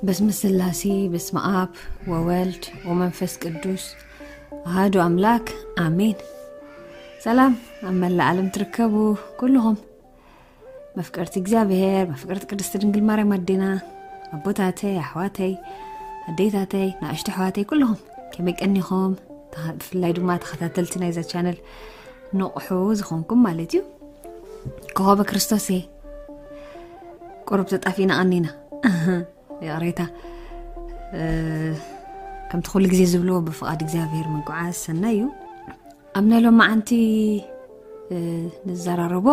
በስመ ስላሴ በስመ ኣብ ወወልድ ወመንፈስ ቅዱስ ኣሃዱ ኣምላክ ኣሜን። ሰላም ኣብ መላእ ዓለም ትርከቡ ኩልኹም መፍቀርቲ እግዚኣብሔር፣ መፍቀርቲ ቅድስቲ ድንግል ማርያም ኣዴና፣ ኣቦታተይ፣ ኣሕዋተይ፣ ኣዴታተይ፣ ንኣሽቱ ኣሕዋተይ ኩልኹም ከመይ ቀኒኹም? ተኸ-፣ ብፍላይ ድማ ተኸታተልቲ ናይዛ ቻነል ንቑሑ ዝኾንኩም ማለት እዩ። ኮኸበ ክርስቶስ እየ። ቁሩብ ተጣፊእና ቀኒና። ይቕሬታ። እ፣ ከምቲ ኩሉ ግዜ ዝብልዎ ብፍቓድ እግዚኣብሔር ምጉዓዝ ሰናይ እዩ። ኣብ ናይ ሎማዓንቲ፣ እ፣ ንዘራረቦ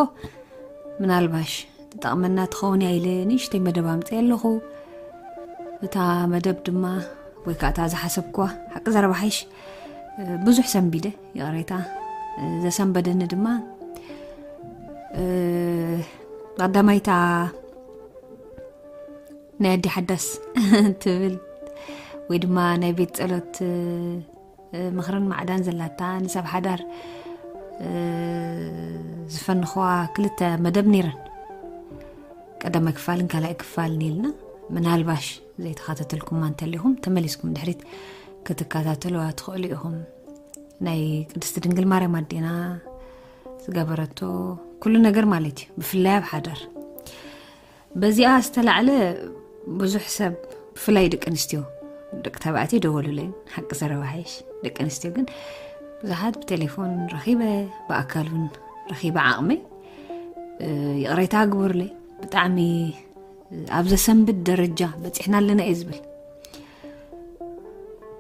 ምናልባሽ ትጠቕመና ትኸውን እያ ኢለ ንእሽተይ መደብ ኣምፅእ ኣለኹ። እታ መደብ ድማ ወይ ከዓ እታ ዝሓሰብኳ ሓቂ ዘረባ ሓይሽ፣ እ፣ ብዙሕ ሰንቢደ ይቕሬታ። እ፣ ዘሰንበደኒ ድማ፣ እ፣ ቀዳማይታ ናይ ኣዲ ሓዳስ ትብል ወይ ድማ ናይ ቤት ጸሎት፣ እ፣ ምኽርን ማዕዳን ዘላታ ንሰብ ሓዳር፣ እ፣ ዝፈንኽዋ ክልተ መደብ ነይረን። ቀዳማይ ክፋልን ካልኣይ ክፋልን ኢልና ምናልባሽ ዘይተኸታተልኩማ እንተሊኹም ተመሊስኩም ድሕሪት ክትከታተልዋ ትኽእሉ ኢኹም። ናይ ቅድስቲ ድንግል ማርያም ኣዴና ዝገበረቶ ኩሉ ነገር ማለት እዩ፣ ብፍላይ ኣብ ሓዳር። በዚኣ ዝተላዕለ ብዙሕ ሰብ፣ ብፍላይ ደቂ ኣንስትዮ፣ ደቂ ተባዕትዮ ደወሉለይ፣ ሓቂ ዘረባ ሓይሽ። ደቂ ኣንስትዮ ግን ብዙሓት ብቴሌፎን ረኺበ፣ ብኣካል እውን ረኺበ ዓቕመይ፣ እ፣ ይቕሬታ ግበሩለይ። ብጣዕሚ ኣብ ዘሰንብድ ደረጃ በፂሕና ኣለና እየ ዝብል።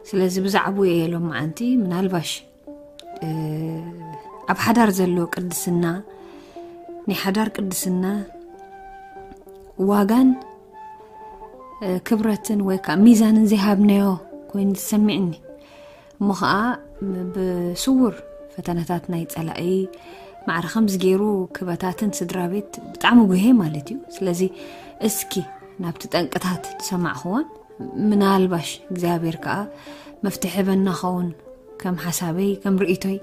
ስለዚ ብዛዕባኡ እየ ሎማዓንቲ ምናልባሽ፣ እ፣ ኣብ ሓዳር ዘሎ ቅድስና፣ ናይ ሓዳር ቅድስና ዋጋን፣ እ፣ ክብረትን ወይ ከዓ ሚዛንን ዘይሃብናዮ ኮይኑ ዝሰሚዕኒ። እሞ ኸዓ ብስውር ፈተነታት ናይ ጸላኢ ማዕረ ከምዚ ገይሩ ክበታትን ስድራ ቤት ብጣዕሚ ጉሄ ማለት እዩ። ስለዚ እስኪ ናብቲ ጠንቅታት ዝሰማዕኽዎን ምናልባሽ እግዚኣብሔር ከኣ መፍትሒ በና ኸውን ከም ሓሳበይ፣ ከም ርእይቶይ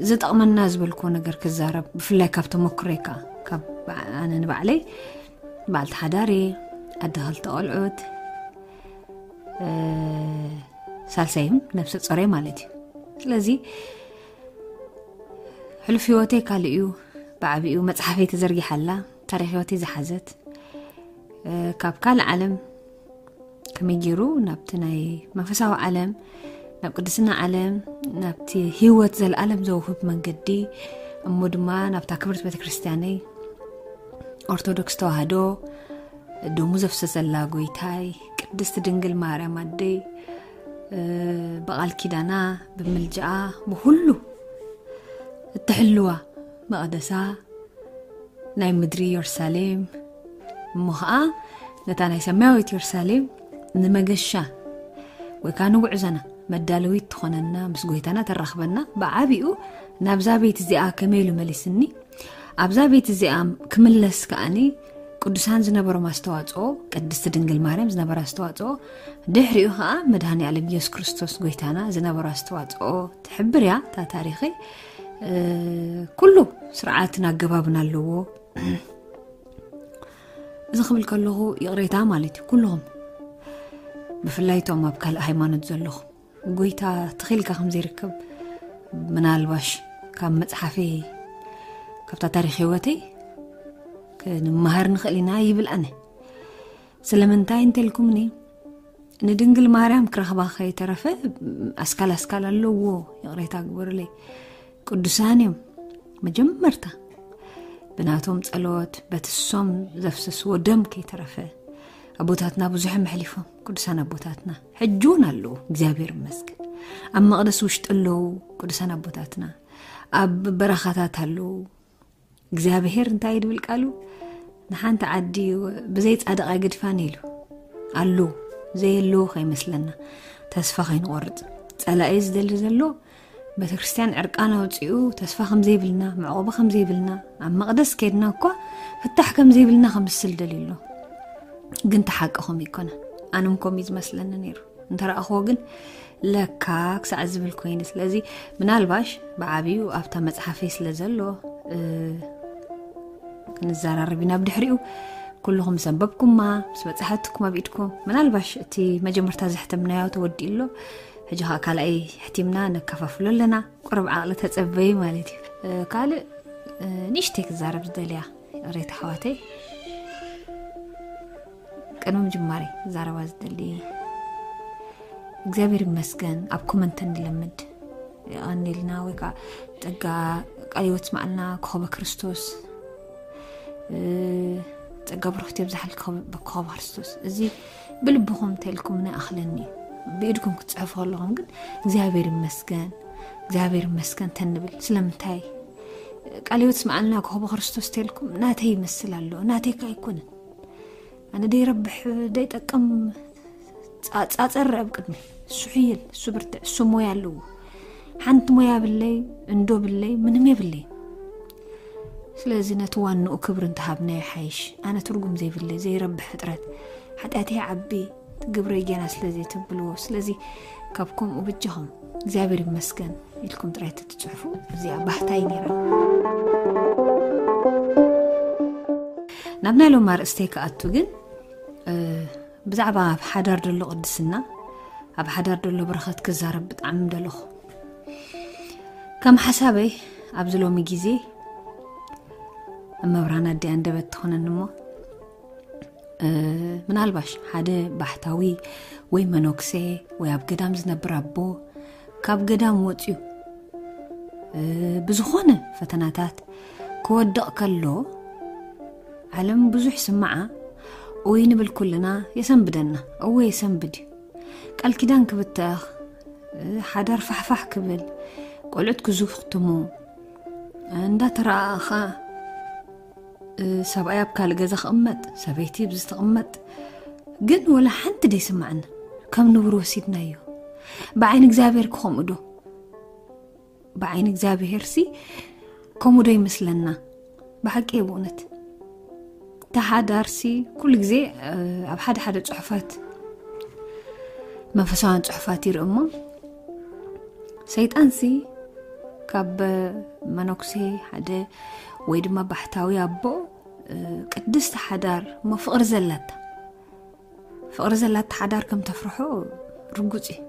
ዝጠቕመና ዝበልክዎ ነገር ክዛረብ፣ ብፍላይ ካብ ተመክሮይ ከኣ፣ ካብ ኣነ ንባዕለይ በዓልቲ ሓዳር እየ፣ ኣደ ክልተ ቆልዑት፣ እ፣ ሳልሳይም ነብሰ ጾር እየ ማለት እዩ። ስለዚ ሕሉፍ ህይወተይ ካልእ እዩ፣ ብዓቢኡ መጽሓፈይ ተዘርጊሓ ኣላ፣ ታሪኽ ህይወተይ ዝሓዘት፣ እ፣ ካብ ካልእ ዓለም ከመይ ገይሩ ናብቲ ናይ መንፈሳዊ ዓለም፣ ናብ ቅድስና ዓለም፣ ናብቲ ህይወት ዘለኣለም ዘውህብ መንገዲ፣ እሞ ድማ ናብታ ክብርቲ ቤተክርስትያነይ ኦርቶዶክስ ተዋህዶ ደሙ ዘፍሰሰላ ጎይታይ ቅድስቲ ድንግል ማርያም ኣደይ፣ እ፣ ብቓል ኪዳና፣ ብምልጃኣ፣ ብኹሉ እትሕልዋ መቕደሳ፣ ናይ ምድሪ የሩሳሌም፣ እሞ ኸዓ ነታ ናይ ሰማያዊት የሩሳሌም ንመገሻ ወይ ከዓ ንጉዕዞና መዳለዊት ትኾነና፣ ምስ ጎይታና ተራኽበና። ብዓቢኡ ናብዛ ቤት እዚኣ ከመይ ኢሉ መሊስኒ፣ ኣብዛ ቤት እዚኣ ክምለስ ከዓኒ ቅዱሳን ዝነበሮም ኣስተዋጽኦ፣ ቅድስቲ ድንግል ማርያም ዝነበራ ኣስተዋጽኦ፣ ድሕሪኡ ኸዓ መድኃኔ ዓለም ኢየሱስ ክርስቶስ ጎይታና ዝነበሮ ኣስተዋጽኦ ትሕብር እያ እታ ታሪኸይ። እ፣ ኩሉ ስርዓትን ኣገባብን ኣለዎ። እዚ ክብል ከለኹ ይቕሬታ ማለት እዩ። ኩልኹም ብፍላይ እቶም ኣብ ካልእ ሃይማኖት ዘለኹም፣ ጎይታ ትኺልካ ከም ዘይርከብ ምናልባሽ ካብ መጽሓፈይ፣ ካብታ ታሪኽ ህይወተይ ክንመሃር ንኽእል ኢና ይብል ኣነ። ስለምንታይ እንተልኩምኒ፣ ንድንግል ማርያም ክረኽባ ከይተረፈ ኣስካል ኣስካል ኣለዎ፣ ይቕሬታ ግበሩለይ። ቅዱሳን እዮም መጀመርታ ብናቶም ጸሎት፣ በቲ እሶም ዘፍሰስዎ ደም ከይተረፈ ኣቦታትና ብዙሕ መሕሊፎም፣ ቅዱሳን ኣቦታትና ሕጂ እውን ኣለዉ፣ እግዚኣብሔር ይመስገን። ኣብ መቕደስ ውሽጢ ኣለዉ ቅዱሳን ኣቦታትና፣ ኣብ በረኻታት ኣለዉ። እግዚኣብሔር እንታይ ድብል ቃሉ፣ ንሓንቲ ዓዲ ብዘይ ጻድቕ ኣይገድፋን ኢሉ ኣሎ። ዘየለዎ ከይመስለና፣ ተስፋ ከይንቆርጽ። ጸላኢ ዝደሊ ዘሎ ቤተክርስትያን ዕርቃን ኣውጺኡ ተስፋ ከም ዘይብልና፣ መዕቆቢ ከም ዘይብልና፣ ኣብ መቕደስ ከድና እኳ ፍታሕ ከም ዘይብልና ከምስል ደልዩ ኣሎ። ግን ተሓቂ ከምኡ ይኮነ። ኣነ እውን ከምኡ እዩ ዝመስለኒ ነይሩ። እንተረኣኽዎ ግን ለካ ክሳዕ ዝብል ኮይኑ። ስለዚ ምናልባሽ ብዓቢኡ ኣብታ መጽሓፈይ ስለ ዘሎ፣ እ፣ ክንዘራረብ ኢና። ብድሕሪኡ ኩልኹም ዘንበብኩማ ምስ በጻሕትኩም ኣብ ኢድኩም፣ ምናልባሽ እቲ መጀመርታ ዘሕተምናዮ ተወዲኡ ኣሎ። ሕጂ ኸኣ ካልኣይ ሕቲምና ነካፋፍሎ ኣለና። ቁሩብ ዓቕሊ ተጸበዩ ማለት እዩ። እ፣ ካልእ፣ እ፣ ንእሽተይ ክዛረብ ዝደልያ ሬታ ኣሕዋተይ፣ ቅድሚ ምጅማረይ ክዛረባ ዝደሊ፣ እግዚኣብሔር ይመስገን ኣብ ኮመንት እንለምድ የቐንየልና፣ ወይ ከዓ ጸጋ ቃለ ሕይወት ስማዕና፣ ኮኸበ ክርስቶስ፣ እ፣ ጸጋ ብሩኽቲ የብዝሓልኪ ኮኸበ ክርስቶስ። እዚ ብልብኹም እንተልኩም ንኣኽለኒ እዩ። ብኢድኩም ክትጽሕፉ ከለኹም ግን እግዚኣብሔር ይመስገን፣ እግዚኣብሔር ይመስገን ተንብል። ስለምንታይ? ቃለ ሕይወት ስማዕና፣ ኮኸበ ክርስቶስ ተልኩም ናተይ ይመስል ኣሎ፣ ናተይ ከ ኣይኮነን። ኣነ ደይረብሕ ደይጠቅም ጻ-፣ ጻጸር ኣብ ቅድሚ እሱ ሕይል፣ እሱ ብርትዕ፣ እሱ ሞያ ኣለዎ። ሓንቲ ሞያ ብለይ፣ እንዶ ብለይ፣ ምንም የብለይ። ስለዚ ነቲ ዋንኡ ክብሪ እንተሃብናዮ ሓይሽ። ኣነ ትርጉም ዘይብለይ፣ ዘይረብሕ ፍጥረት፣ ሓጢኣተይ ዓቢ፣ ግብረይ ጌና ስለ ዘይተብልዎ። ስለዚ ካብ ከምኡ ብጃኹም እግዚኣብሔር ይመስገን ኢልኩም ጥራይ ተትጽሕፉ፣ እዚኣ ባህታይ ነይራ። ናብ ናይ ሎም ኣርእስተይ ክኣቱ ግን፣ እ፣ ብዛዕባ ኣብ ሓዳር ዘሎ ቅድስና፣ ኣብ ሓዳር ዘሎ በረኸት ክዛረብ ብጣዕሚ ምደለኹ። ከም ሓሳበይ ኣብዚ ሎሚ ግዜ፣ እመብርሃን ኣዲኣ ኣንደበት ትኾነኒ እሞ፣ እ፣ ምናልባሽ ሓደ ባሕታዊ ወይ መነኩሴ ወይ ኣብ ገዳም ዝነብር ኣቦ ካብ ገዳም ወፅዩ፣ እ፣ ብዝኾነ ፈተናታት ክወድቕ ከሎ፣ ዓለም ብዙሕ ስምዓ፣ ኡይ ንብል ኩልና፣ የሰንብደና። እወ፣ የሰንብድ እዩ። ቃል ኪዳን ክብተኽ፣ እ፣ ሓዳር ፋሕፋሕ ክብል፣ ቆልዑት ክዝኽትሙ፣ እንዳተረኣእኻ፣ እ፣ ሰብኣይ ኣብ ካልእ ገዛ ክቕመጥ፣ ሰበይቲ ኣብዚ ትቕመጥ፣ ግን ወላ ሓንቲ ደይስማዕና። ከም ንቡር ወሲድናዮ። ብዓይኒ እግዚኣብሔር ክኸምኡ ዶ? ብዓይኒ እግዚኣብሔርሲ ከምኡ ዶ ይመስለና? ብሓቂ እየ ብእውነት። ተሓዳርሲ ኩሉ ግዜ፣ እ፣ ኣብ ሓደ ሓደ ጽሑፋት፣ መንፈሳውያን ጽሑፋት ይርኢ እሞ፣ ሰይጣንሲ ካብ መነኩሴ ሓደ ወይ ድማ ባሕታዊ ኣቦ፣ እ፣ ቅድስቲ ሓዳር እሞ ፍቕሪ ዘላታ፣ ፍቕሪ ዘላታ ሓዳር ከም ተፍርሖ ርጉጽ እዩ።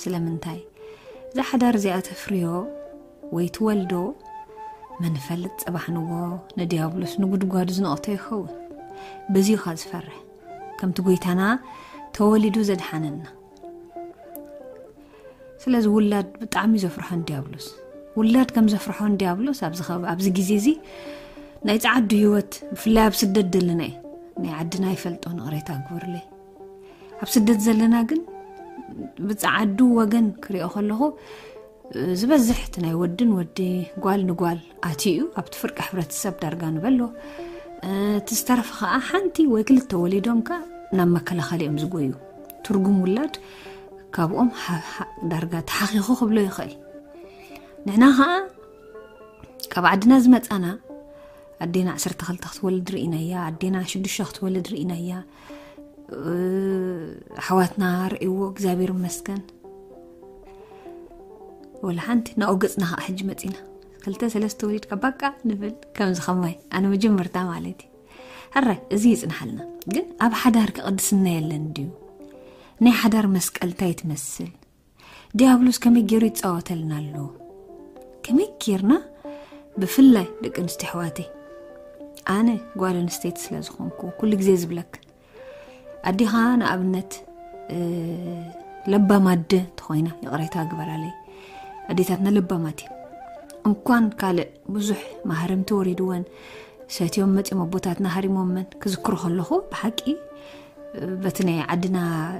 ስለምንታይ? እዛ ሓዳር እዚኣ ተፍርዮ ወይ ትወልዶ መን ይፈልጥ፣ ጽባሕ ንጎ ንዲያብሎስ ንጉድጓዱ ዝነቕቶ ይኸውን። በዚ እዩ ኸኣ ዝፈርሕ። ከምቲ ጐይታና ተወሊዱ ዘድሓነና። ስለዚ ውላድ ብጣዕሚ እዩ ዘፍርሖ ንዲያብሎስ። ውላድ ከም ዘፍርሖ ንዲያብሎስ ኣብዚ ኸብ-፣ ኣብዚ ግዜ እዚ ናይ ጸዓዱ ህይወት፣ ብፍላይ ኣብ ስደት ዘለና እዩ። ናይ ዓድና ይፈልጦ፣ ንቕሬታ ግበሩለይ። ኣብ ስደት ዘለና ግን ብጸዓዱ ወገን ክሪኦ ከለኹ፣ ዝበዝሕ እቲ ናይ ወድን ወዲ፣ ጓል ንጓል ኣትዩ ኣብቲ ፍርቂ ሕብረተሰብ ዳርጋ ንበሎ። እቲ ዝተረፈ ኸኣ ሓንቲ ወይ ክልተ ወሊዶም ከኣ ናብ መከላኸሊ እዮም ዝጎዩ። ትርጉም ውላድ ካብኦም ሓ-፣ ሓ-፣ ዳርጋ ተሓኺኹ ክብሎ ይኽእል። ንሕና ኸኣ ካብ ዓድና ዝመጻና፣ ኣዴና ዓሰርተ ክልተ ክትወልድ ርኢናያ፣ ኣዴና ሽዱሽተ ክትወልድ ርኢናያ። እ፣ ኣሕዋትና ርእይዎ፣ እግዚኣብሔር ይመስገን። ወላ ሓንቲ ናብኡ ገጽና ኸዓ ሕጂ መጺና። ክልተ ሰለስተ ወሊድካ ባቃ ንብል፣ ከምዚ ኸማይ። ኣነ መጀመርታ ማለት እዩ። ሕራይ፣ እዚ ይጽንሓልና። ግን ኣብ ሓዳር ከ ቅድስና የለን ድዩ? ናይ ሓዳር መስቀል እንታይ ትመስል? ዲያብሎስ ከመይ ገይሩ ይጻወተልና ኣሎ? ከመይ ጌርና፣ ብፍላይ ደቂ ኣንስትዮ ኣሕዋተይ፣ ኣነ ጓል ኣንስተይቲ ስለ ዝኾንኩ፣ ኩሉ ግዜ ዝብለክን፣ ኣዴኻ ንኣብነት፣ እ፣ ለባም ኣደ እንተኾይና፣ ይቕሬታ ግበራለይ፣ ኣዴታትና ለባማት እየን። እንኳን ካልእ ብዙሕ ማህረምቲ ወሪድወን፣ ሰትዮም መጺኦም ኣቦታትና ሃሪሞመን ክዝክሮ ከለኹ፣ ብሓቂ በቲ ናይ ዓድና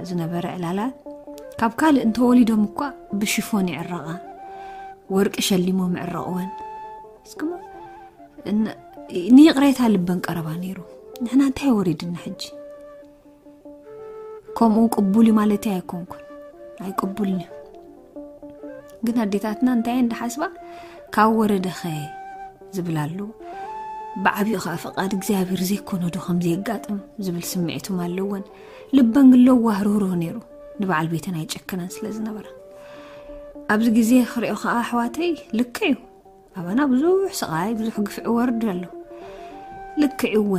ዝነበረ ዕላላ፣ ካብ ካልእ እንተወሊዶም እኳ ብሽፎን ይዕረቓ፣ ወርቂ ሸሊሞም ይዕረቕወን። እስክሞ እን-፣ ንይቕሬታ ልበን ቀረባ ነይሩ። ንሕና እንታይ ወሪድና ሕጂ? ከምኡ ቅቡል እዩ ማለተይ ኣይኮንኩን፣ ኣይቅቡልን እዩ። ግን ኣዴታትና እንታይ እየን ዝሓስባ? ካብ ወረደኸ ዝብል ኣሎ። ብዓቢኡ ኸዓ ፍቓድ እግዚኣብሔር ዘይኮነ ዶ ከም ዘየጋጥም ዝብል ስምዒት እውን ኣለወን። ልበን ግን ለዋህ ርህሩህ ነይሩ። ንበዓል ቤተን ኣይጨክነን ስለ ዝነበራ። ኣብዚ ግዜ ክሪኦ ኸዓ ኣሕዋተይ ልክዕ እዩ። ኣባና ብዙሕ ስቓይ፣ ብዙሕ ግፍዒ ወርዱ ኣሎ። ልክዕ እወ።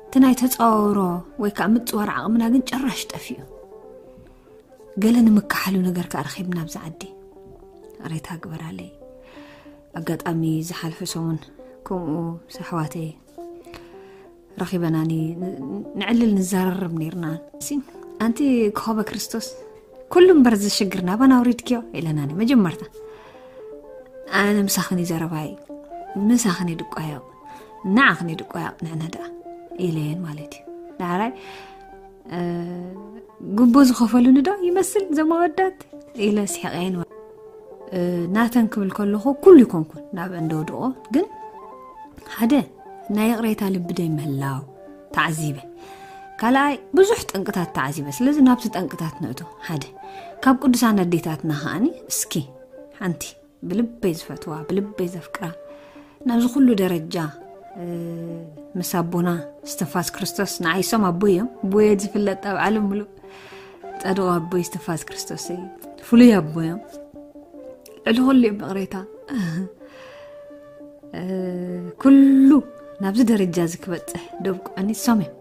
እቲ ናይ ተፃወሮ ወይ ከዓ ምፅዋር ዓቕምና ግን ጭራሽ ጠፊኡ። ገለ ንምካሓሉ ነገር ከዓ ረኺብና ኣብዚ ዓዲ። ሬታ ግበራለይ። ኣጋጣሚ ዝሓልፈ ሰሙን ከምኡ ምስ ኣሕዋተይ ረኺበናኒ ንዕልል ንዛረርብ ነርና። ኣንቲ ክኸበ ክርስቶስ ኩሉ እምበር ዝሽግር ናባና ኣውሪድክዮ ኢለናኒ። መጀመርታ ኣነ ምሳኽን ዘረባይ ምሳኽን ድቋየቕ ንዓኽን ድቋየቕ ንዕነ ደኣ ኢለየን ማለት እዩ። ዳሕራይ ጉቦ ዝኸፈሉኒ ዶ ይመስል ዘማወዳት ኢለ ስሕቀየን። ናተን ክብል ከለኹ ኩሉ ይኮንኩን ናብ እንደወድቆ ግን ሓደ ናይ ይቕሬታ ልቢ ደይ ምህላው ተዓዚበ። ካልኣይ ብዙሕ ጠንቅታት ተዓዚበ። ስለዚ ናብቲ ጠንቅታት ንእቶ። ሓደ ካብ ቅዱሳን ኣዴታትና ከዓኒ እስኪ ሓንቲ ብልበይ ዝፈትዋ ብልበይ ዘፍቅራ ናብዚ ኩሉ ደረጃ ምስ ኣቦና እስትንፋስ ክርስቶስ ንዓይሶም ኣቦይ እዮም። ኣቦየ ዝፍለጥ ኣብ ዓለም ምሉእ ጸድቑ ኣቦይ እስትንፋስ ክርስቶስ እዩ። ፍሉይ ኣቦ እዮም። ልዕሊ ኩሉ እዮም ብቕሬታ ኩሉ ናብዚ ደረጃ እዚ ክበጽሕ ደብቁዕኒ እሶም እዮም።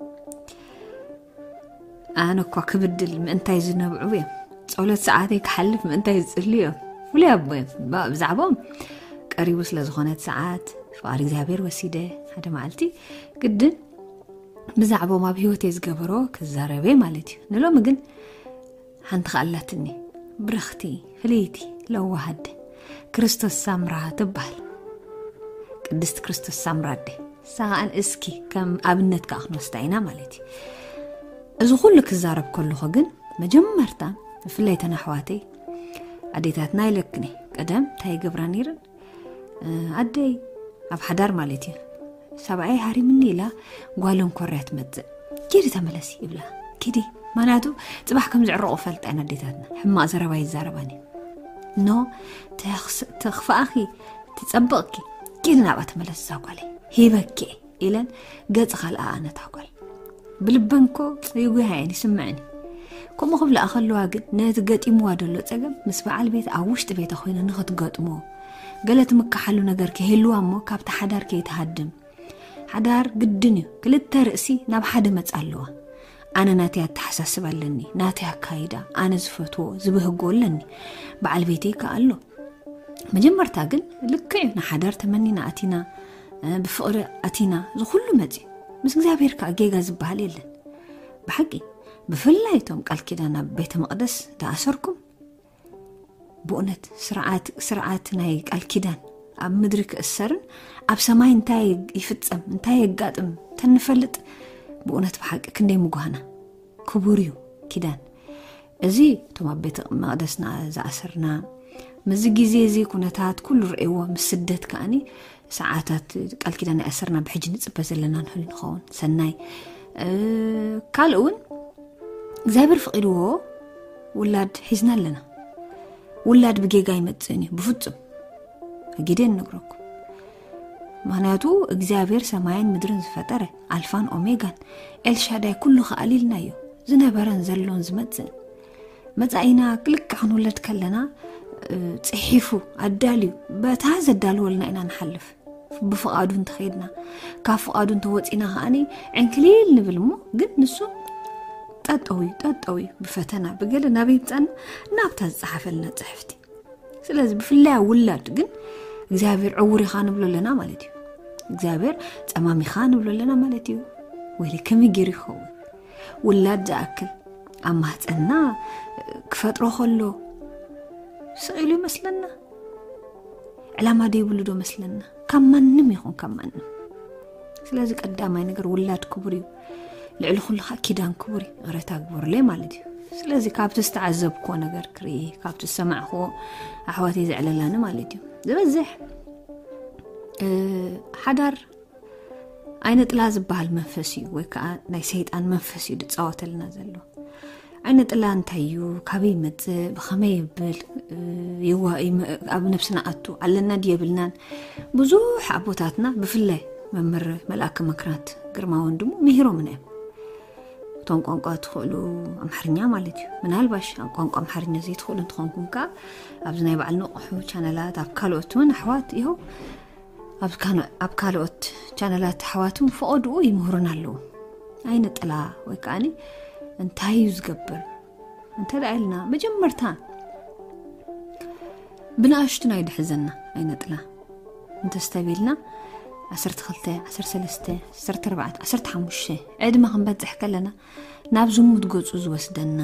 ኣነ እኳ ክብድል ምእንታይ ዝነብዑ እዮም። ጸሎት ሰዓተይ ክሓልፍ ምእንታይ ዝጽልዩ እዮም። ፍሉይ ኣቦ እዮም። ብዛዕባኦም ቀሪቡ ስለ ዝኾነት ሰዓት ፍቓድ እግዚኣብሔር ወሲደ ሓደ መዓልቲ ግድን ብዛዕባኦም ኣብ ህይወተይ ዝገበሮ ክዛረበ ማለት እዩ። ንሎሚ ግን ሓንቲ ከኣላትኒ ብርኽቲ ፍልይቲ ለዋሃድ ክርስቶስ ሳምራ ትበሃል። ቅድስቲ ክርስቶስ ሳምራ ኣደ ሳን እስኪ ከም ኣብነት ከዓ ክንወስዳ ኢና ማለት እዩ። እዚ ኩሉ ክዛረብ ከለኹ ግን መጀመርታ ብፍላይ ተን ኣሕዋተይ ኣዴታትና ይለክኒ ቀደም እንታይ ይገብራ ነይረን ኣደይ ኣብ ሓዳር ማለት እዩ ሰብኣይ ሃሪምኒ ኢላ ጓሎም ኮርያ ትመፅእ። ኪዲ ተመለሲ ይብላ። ኪዲ ማናቱ ፅባሕ ከም ዝዕረቑ ፈልጣ ኢና ኣዴታትና። ሕማቕ ዘረባ ይዛረባኒ። ኖ ተኽፍኣኺ ትፀብቕኪ ኪዲ ናብኣ ተመለስ እዛ ጓለይ ሂበኪ ኢለን ገፅ ካልኣ ኣነታ ጓል ብልበንኮ ይጉሃየን ይስምዕኒ። ከምኡ ክብላ ከለዋ ግን ነቲ ገጢምዋ ዘሎ ፀገም ምስ በዓል ቤት ኣብ ውሽጢ ቤታ ኮይነ ንክትገጥሞ ገለ ትምካሓሉ ነገር ከይህልዋ እሞ ካብቲ ሓዳር ከይትሃድም ሓዳር ግድን እዩ። ክልተ ርእሲ ናብ ሓደ መጻ ኣለዋ። ኣነ ናተይ ኣተሓሳስብ ኣለኒ፣ ናተይ ኣካይዳ፣ ኣነ ዝፈትዎ ዝብህጎ ኣለኒ። በዓል ቤተይ ከኣ ኣሎ። መጀመርታ ግን ልክዕ እዩ ንሓዳር ተመኒና ኣቲና ብፍቕሪ ኣቲና ዝኩሉ መጺ ምስ እግዚኣብሔር ከኣ ጌጋ ዝበሃል የለን። ብሓቂ ብፍላይ እቶም ቃል ኪዳን ኣብ ቤተ መቕደስ ተኣሰርኩም ብእውነት ስርዓት ናይ ቃል ኪዳን ኣብ ምድሪ ክእሰርን ኣብ ሰማይ እንታይ ይፍጸም እንታይ የጋጥም ተንፈልጥ ብእውነት ብሓቂ ክንደይ ምጓህና ክቡር እዩ ኪዳን እዚ እቶም ኣብ ቤተ መቅደስና ዝኣሰርና ምዚ ግዜ እዚ ኩነታት ኩሉ ርእዎ ምስ ስደት ከኣኒ ሰዓታት ቃል ኪዳን ይኣሰርና ብሕጂ ንጽበ ዘለና ንህሉ ንኸውን ሰናይ ካልእ እውን እግዚኣብሔር ፍቂድዎ ውላድ ሒዝና ኣለና። ውላድ ብጌጋ ኣይመጽእን እዩ ብፍጹም። ኣጊደ ንነግረኩም። ምክንያቱ እግዚኣብሔር ሰማይን ምድርን ዝፈጠረ ኣልፋን ኦሜጋን ኤልሻዳይ ኩሉ ከኣል ኢልናዮ። ዝነበረን ዘሎን ዝመጽእን መጻኢና ክልክዕ ክንውለድ ከለና ጽሒፉ ኣዳልዩ በታ ዘዳልወልና ኢና ንሓልፍ። ብፍቓዱ እንተኸይድና ካብ ፍቓዱ እንተወፂና ከዓኒ ዕንክሊል ንብል እሞ ግን ንሱ ጠጠው እዩ ጠጠው እዩ ብፈተና ብገለ ናበይ ይምፃና ናብታ ዝፀሓፈልና ፅሕፍቲ ስለዚ ብፍላይ ውላድ ግን እግዚኣብሔር ዕውር ኢኻ ንብሎ ኣለና ማለት እዩ እግዚኣብሔር ፀማም ኢኻ ንብሎ ኣለና ማለት እዩ ወይ ከመይ ገይሩ ይኸውን ውላድ ዝኣክል ኣብ ማህፀንና ክፈጥሮ ከሎ ስቕ ኢሉ ይመስለና ዕላማ ደይብሉ ዶ መስለና ካብ ማንም ይኹን ካብ ማንም ስለዚ ቀዳማይ ነገር ውላድ ክቡር እዩ ልዕሊ ኩሉ ከዓ ኪዳን ክቡር እዩ ይቕረታ ግበሩለይ ማለት እዩ ስለዚ ካብቲ ዝተዓዘብክዎ ነገር ክርኢ ካብቲ ዝሰማዕክዎ ኣሕዋተይ ዘዕለላኒ ማለት እዩ ዝበዝሕ ሓዳር ዓይነ ጥላ ዝበሃል መንፈስ እዩ ወይ ከዓ ናይ ሰይጣን መንፈስ እዩ ዝፃወተልና ዘሎ ዓይነ ጥላ እንታይ እዩ ካበይ ይመፅእ ብኸመይ ይብል ይዋ- ይመ- ኣብ ነብስና ኣቱ ኣለና ድዩ የብልናን ብዙሕ ኣቦታትና ብፍላይ መምህር መልኣከ መክራት ግርማ ወንድሙ ምሂሮምና እዮም እቶም ቋንቋ ትኽእሉ ኣምሓርኛ ማለት እዩ ምናልባሽ ኣብ ቋንቋ ኣምሓርኛ ዘይትኽእሉ እንትኾንኩም ከዓ ኣብዚ ናይ በዓል ንቑሑ ቻነላት ኣብ ካልኦት እውን ኣሕዋት ይኸው ኣብ ካልኦት ቻነላት ኣሕዋት እውን ፈቐድኡ ይምህሩና ኣለዉ ኣይነ ጥላ ወይ ከዓኒ እንታይ እዩ ዝገብር እንተ ደኣ ኢልና፣ መጀመርታ ብንኣሽቱና ይድሕዘና። ኣይነ ጥላ እንተስተቢልና፣ ዓሰርተ ክልተ፣ ዓሰርተ ሰለስተ፣ ዓሰርተ ኣርባዕተ፣ ዓሰርተ ሓሙሽተ ዕድመ ክንበጽሕ ከለና፣ ናብ ዝሙት ገጹ ዝወስደና፣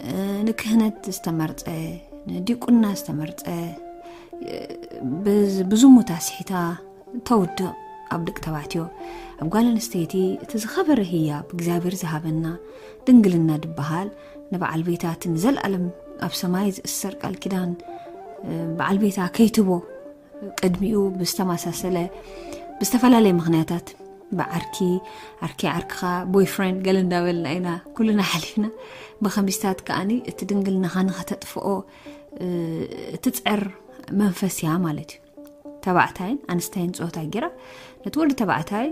እ፣ ንክህነት ዝተመርጸ፣ ንዲቁና ዝተመርጸ፣ እ፣ ብዝ-፣ ብዝሙት ኣስሒታ ተውድቕ። ኣብ ደቂ ተባዕትዮ፣ ኣብ ጓል ኣንስተይቲ እቲ ዝኸበረ ህያብ እግዚኣብሔር ዝሃበና ድንግልና ድበሃል፣ ንበዓል ቤታ እቲ ንዘለኣለም ኣብ ሰማይ ዝእሰር ቃል ኪዳን፣ እ፣ በዓል ቤታ ከይትቦ፣ ቅድሚኡ ብዝተመሳሰለ፣ ብዝተፈላለየ ምኽንያታት፣ ብዓርኪ፣ ዓርኪ ዓርክኻ፣ ቦይፍሬንድ ገለ እንዳበልና ኢና ኩልና ሓሊፍና። ብኸምዚታት ከኣኒ እቲ ድንግልናኻ ንኸተጥፍኦ፣ እ፣ እትጽዕር መንፈስ እያ ማለት እዩ። ተባዕታይን ኣንስታይን ጾታ ጌራ ነቲ ወዲ ተባዕታይ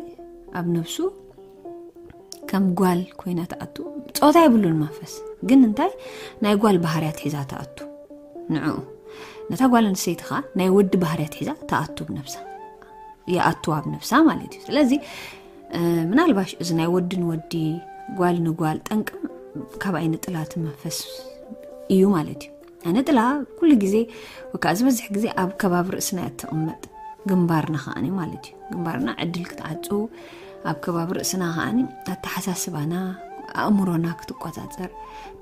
ኣብ ነብሱ ከም ጓል ኮይና ትኣቱ። ጾታ የብሉን መንፈስ፣ ግን እንታይ ናይ ጓል ባህርያት ሒዛ ትኣቱ። ንዕኡ፣ ነታ ጓል ኣንስተይቲ ኸኣ ናይ ወዲ ባህርያት ሒዛ ትኣቱ ብነብሳ፣ ይኣቱ ኣብ ነብሳ ማለት እዩ። ስለዚ፣ እ፣ ምናልባሽ እዚ ናይ ወዲ ንወዲ፣ ጓል ንጓል ጠንቅም ካብ ኣይነ ጥላ እቲ መንፈስ እዩ ማለት እዩ። ኣይነ ጥላ ኩሉ ግዜ፣ ወይ ከዓ ዝበዝሕ ግዜ ኣብ ከባቢ ርእስና እያ እትቕመጥ፣ ግንባርና ከኣኒ ማለት እዩ። ግንባርና ዕድል ክትዓጹ፣ ኣብ ከባቢ ርእስና ከኣኒ ኣተሓሳስባና፣ ኣእምሮና ክትቆጻጸር፣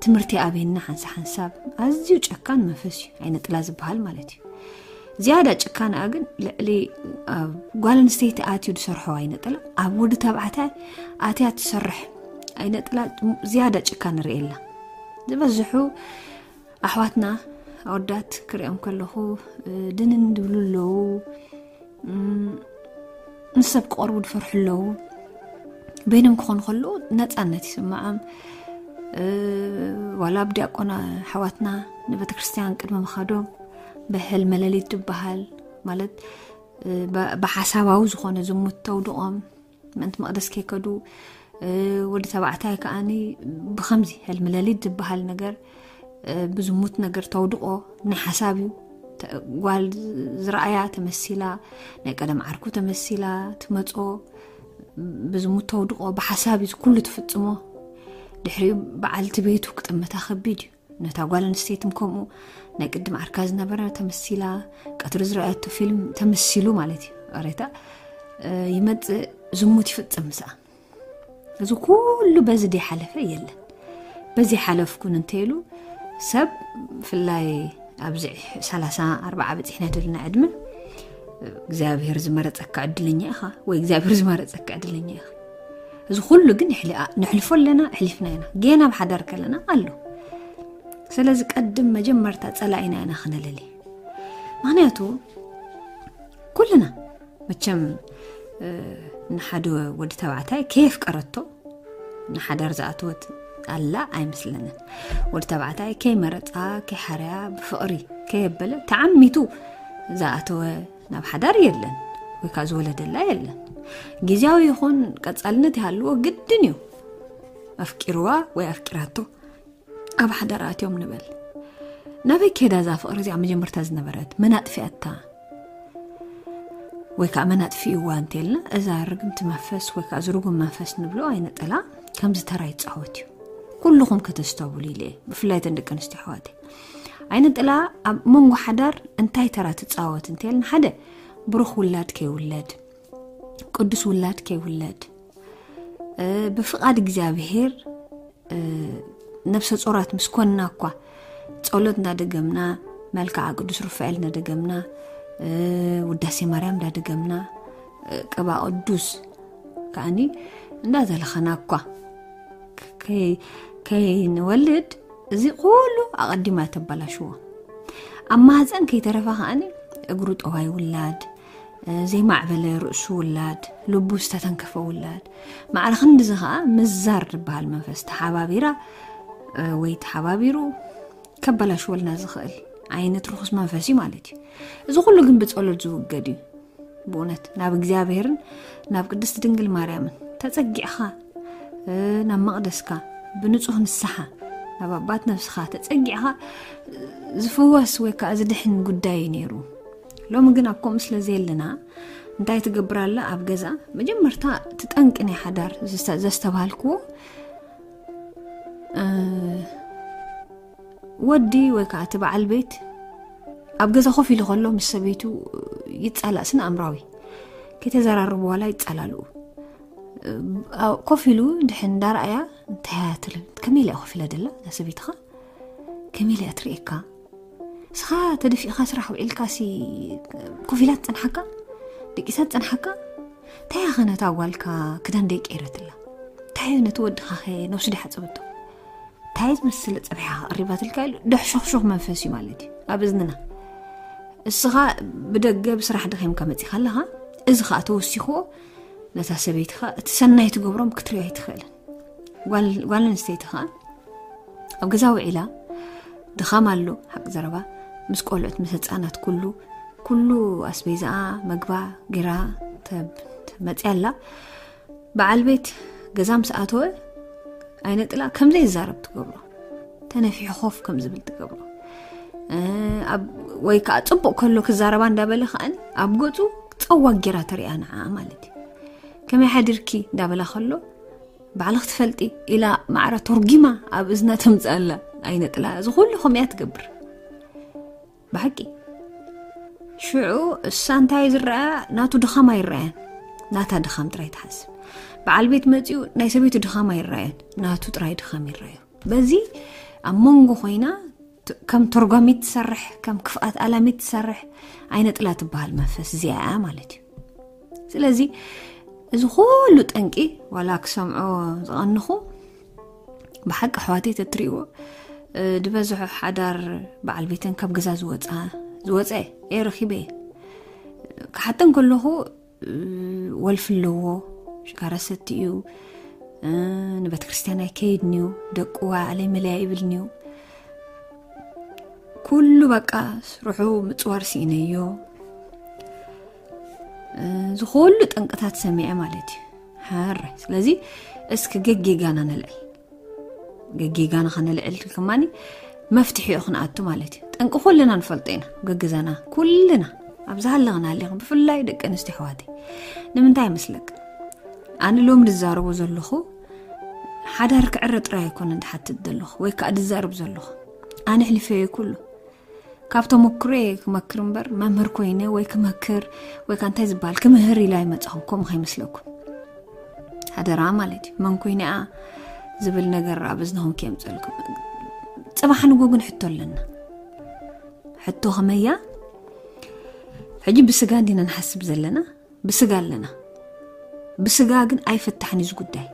ትምህርቲ ኣበየና ሓንሳ ሓንሳብ። ኣዝዩ ጨካን መንፈስ እዩ ኣይነ ጥላ ዝበሃል ማለት እዩ። ዝያዳ ጭካንኣ ግን ልዕሊ ኣብ ጓል ኣንስተይቲ ኣትዩ ዝሰርሖ ኣይነ ጥላ፣ ኣብ ወዲ ተባዕታይ ኣትያ ትሰርሕ ኣይነ ጥላ ዝያዳ ጭካን ንርእየላ። ዝበዝሑ ኣሕዋትና ኣወዳት ክሪኦም ከለኹ፣ እ፣ ድንን ድብሉ ኣለዉ። እም፣ ምስ ሰብ ክቐርቡ ዝፈርሑ ኣለዉ። በይኖም ክኾኑ ከለዉ ነጻነት ይስምዖም። እ፣ ዋላ ኣብ ዲያቆን ኣሕዋትና ንቤተ ክርስቲያን ቅድሚ ምኻዶም ብሕልመ ሌሊት ዝበሃል ማለት፣ እ፣ ብ-፣ ብሓሳባዊ ዝኾነ ዝሙት ተውድቖም ምእንቲ መቕደስ ከይከዱ፣ እ፣ ወዲ ተባዕታይ ከኣኒ ብኸምዚ ሕልሚ ሌሊት ዝበሃል ነገር፣ እ፣ ብዝሙት ነገር ተውድቖ ናይ ሓሳብ እዩ። ተ-፣ ጓል ዝረኣያ ተመሲላ፣ ናይ ቀደም ዓርኩ ተመሲላ ትመጾ፣ ብዝሙት ተውድቖ ብሓሳብ እዩ ኩሉ ትፍጽሞ። ድሕሪኡ በዓልቲ ቤቱ ክጥምታ ከቢድ እዩ። ነታ ጓል ኣንስተይትም ከምኡ ናይ ቅድም ዓርካ ዝነበረ ተመሲላ፣ ቀትሪ ዝረኣየቶ ፊልም ተመሲሉ ማለት እዩ። ሬታ፣ እ፣ ይመጽእ፣ ዝሙት ይፍጽም ምስኣ። እዚ ኩሉ በዚ ደይ ሓለፈ የለን። በዚ ሓለፍኩን እንተይሉ ሰብ፣ ብፍላይ ኣብዚ ሰላሳ ኣርባዓ በጺሕና ዘለና ዕድመ፣ እግዚኣብሔር ዝመረጸካ ዕድለኛ ኢኻ ወይ እግዚኣብሔር ዝመረጸካ ዕድለኛ ኢኻ። እዚ ኩሉ ግን ይሕሊ-፣ ንሕልፎ ኣለና፣ ኣሕሊፍና ኢና። ጌና ኣብ ሓዳር ከለና ኣሎ። ስለዚ ቀድም መጀመርታ ጸላኢና ኢና ክነለሊ። ምኽንያቱ ኩልና መቸም፣ እ፣ ንሓደ ወዲ ተባዕታይ ከየፍቀረቶ ንሓዳር ዝኣተወት ኣላ ኣይመስለንን። ወዲ ተባዕታይ ከይመረጻ፣ ከይሓረያ፣ ብፍቕሪ ከየበለ ተዓሚቱ ዝኣተወ ናብ ሓዳር የለን፣ ወይ ከዓ ዝወለደላ የለን። ግዝያዊ ይኹን ቀጻልነት ይሃልዎ ግድን እዩ። ኣፍቂርዋ ወይ ኣፍቂራቶ ኣብ ሓዳር ኣትዮም ንበል። ናበይ ከይዳ እዛ ፍቕሪ እዚኣ መጀመርታ ዝነበረት? መን ኣጥፊኣታ? ወይ ከዓ መን ኣጥፊእዋ እንተልና፣ እዛ ርግምቲ መንፈስ ወይ ከዓ ዝርጉም መንፈስ ንብሎ ኣይነ ጥላ ከምዚ ተራ ይጻወት እዩ። ኩልኹም ከተስተብሉ ኢለ እየ፣ ብፍላይ እተን ደቂ ኣንስትዮ ኣሕዋተይ። ኣይነ ጥላ ኣብ መንጎ ሓዳር እንታይ ተራ ትጻወት እንተልና፣ ሓደ ብሩኽ ውላድ ከይውለድ፣ ቅዱስ ውላድ ከይውለድ፣ እ፣ ብፍቓድ እግዚኣብሔር፣ እ፣ ነብሰ ጾራት ምስ ኮንና እኳ ጸሎት እናደገምና፣ መልክዓ ቅዱስ ሩፋኤል እናደገምና፣ እ፣ ውዳሴ ማርያም እንዳደገምና፣ እ፣ ቅባ ቅዱስ ከኣኒ እንዳዘለኸና እኳ ከይ-፣ ከይንወልድ እዚ ኩሉ ኣቐዲማ ተበላሽዎ። ኣብ ማህፀን ከይተረፈ ከኣኒ እግሩ ጠዋይ ውላድ፣ እ፣ ዘይማዕበለ ርእሱ ውላድ፣ ልቡ ዝተተንከፈ ውላድ፣ ማዕረ ክንድዚ ከኣ ምዛር ዝበሃል መንፈስ ተሓባቢራ፣ እ፣ ወይ ተሓባቢሩ ከበላሽወልና ዝኽእል ዓይነት ርኹስ መንፈስ እዩ ማለት እዩ። እዚ ኩሉ ግን ብጸሎት ዝውገድ እዩ። ብእውነት ናብ እግዚኣብሔርን ናብ ቅድስቲ ድንግል ማርያምን ተጸጊዕኻ፣ እ፣ ናብ መቕደስካ ብንጹህ ንስሓ ናብ ኣባት ነፍስኻ ተጸጊዕኻ፣ እ፣ ዝፍወስ ወይ ከኣ ዝድሕን ጉዳይ እዩ ነይሩ። ሎሚ ግን ኣብ ከምኡ ስለ ዘየለና፣ እንታይ ትገብር ኣላ ኣብ ገዛ? መጀመርታ ትጠንቂ ናይ ሓዳር ዘስተባሃልክዎ ወዲ ወይ ከዓ እቲ በዓል ቤት ኣብ ገዛ ኮፍ ኢሉ ከሎ ምስ ሰበይቱ ይጻላእ፣ ስነ ኣእምራዊ ከተዘራርቡ ዋላ ይጻላልኡ። ኮፍ ኢሉ ድሕን እንዳረኣያ እንታይ እያ ትብል? ከመይ ኢላ ኮፍ ኢላ ደላ እዛ ሰበይትኻ? ከመይ ኢላ እያ ትርእየካ? እስኻ ተደፊእካ ስራሕ ውዒልካ ሲ ኮፍ ኢላ ትጸንሓካ? ደቂሳ ትጸንሓካ? እንታይ እያ ኸ ነታ ጓልካ ክዳን ደይቀይረትላ? እንታይ እዩ ነቲ ወድኻ ኸ ነብሱ ደይሓጸበቶ? እንታይ ዝመስል ጸብሒኻ ቀሪባትልካ ኢሉ ደሕሾኽሾኽ መንፈስ እዩ ማለት እዩ ኣብ እዝንና። እስኻ ብደገ ብስራሕ ደኺምካ መጺኻ ኣለኻ፣ እዚ ኸኣ ተወሲኽዎ ነታ ሰበይትኻ እቲ ሰናይ ትገብሮም ክትሪኦ ኣይትኽእልን። ጓል ኣንስተይቲ ኸኣ ኣብ ገዛ ውዒላ ድኻም ኣሎ፣ ሓቂ ዘረባ፣ ምስ ቆልዑት ምስ ህፃናት ኩሉ ኩሉ ኣስቤዛኣ መግባ ጌራ ተመፅያ ኣላ። በዓል ቤት ገዛ ምስ ኣተወ ኣይነጥላ ከም ዘይዛረብ ትገብሮ፣ ተነፊሑ ኮፍ ከም ዝብል ትገብሮ። ወይ ከዓ ፅቡቅ ከሎ ክዛረባ እንዳበለ ከዓ ኣብ ገፁ ፀዋግ ጌራ ተሪኣ ንዓ ማለት እዩ። ከመይ ሓዲርኪ እንዳበላ ከሎ ባዕልኽ ትፈልጢ ኢላ ማዕረ ተርጊማ ኣብ እዝና ተምፅኣላ። ኣይነጥላ እዚ ኩሉ ከምያ ትገብር ብሓቂ። ሽዑ እሳ እንታይ ዝረኣያ ናቱ ድኻም ኣይረኣያን፣ ናታ ድኻም ጥራይ ትሓስብ። በዓል ቤት መፂኡ ናይ ሰበይቱ ድኻም ኣይረኣያን፣ ናቱ ጥራይ ድኻም ይረኣዩ። በዚ ኣብ መንጎ ኮይና ከም ተርጓሚት ትሰርሕ፣ ከም ክፍኣት ኣላሚት ትሰርሕ ኣይነጥላ ትበሃል መንፈስ እዚኣ እያ ማለት እዩ። ስለዚ እዚ ኩሉ ጠንቂ ዋላ ክሰምዖ ዝቐንኹ ብሓቂ ኣሕዋተይ ተትሪእዎ ድበዝሑ ሓዳር በዓል ቤተን ካብ ገዛ ዝወፃ ዝወፀ እየ ረኺበ እየ። ክሓተን ከለኹ ወልፊ ኣለዎ፣ ሽጋራ ሰቲ እዩ፣ ንቤተ ክርስቲያን ኣይከይድን እዩ፣ ደቁ ኣለይ መለያ ይብልኒ እዩ። ኩሉ በቃ ስርሑ ምፅዋር ስኢነዮ። ዝኩሉ ጠንቅታት ሰሚዐ ማለት እዩ። ሓራይ ስለዚ እስኪ ገጌጋና ነልዕል። ገጌጋና ከነልዕል ከማኒ መፍትሒኡ ክንኣቱ ማለት እዩ። ጠንቂ ኩልና ንፈልጦ ኢና። ገግዛና ኩልና ኣብ ዝሃለኽና ሃሊኽን ብፍላይ ደቂ ኣንስትዮ ኣሕዋተይ ንምንታይ ይመስለክ? ኣነ ሎም ዝዛረቦ ዘለኹ ሓዳር ክዕረ ጥራይ ኣይኮነን ድሓትት ዘለኹ ወይ ከዓ ድዛረብ ዘለኹ። ኣነ ሕሊፈዮ ኩሉ ካብ ተመክሮየ ክመክር እምበር መምህር ኮይነ ወይ ክመክር ወይ ከዓ እንታይ ዝበሃል ክምህር ኢላ ኣይመፃኹም። ከምኡ ከይመስለኩም ሓደራ ማለት እዩ። መን ኮይነ እያ ዝብል ነገር ኣብ እዝንኹም ከየምፀልኩም። ፅባሕ ንጎ ግን ሕቶ ኣለና። ሕቶ ከመያ? ሕጂ ብስጋ እንዲና ንሓስብ ዘለና፣ ብስጋ ኣለና። ብስጋ ግን ኣይፍታሕን እዩ እዚ ጉዳይ።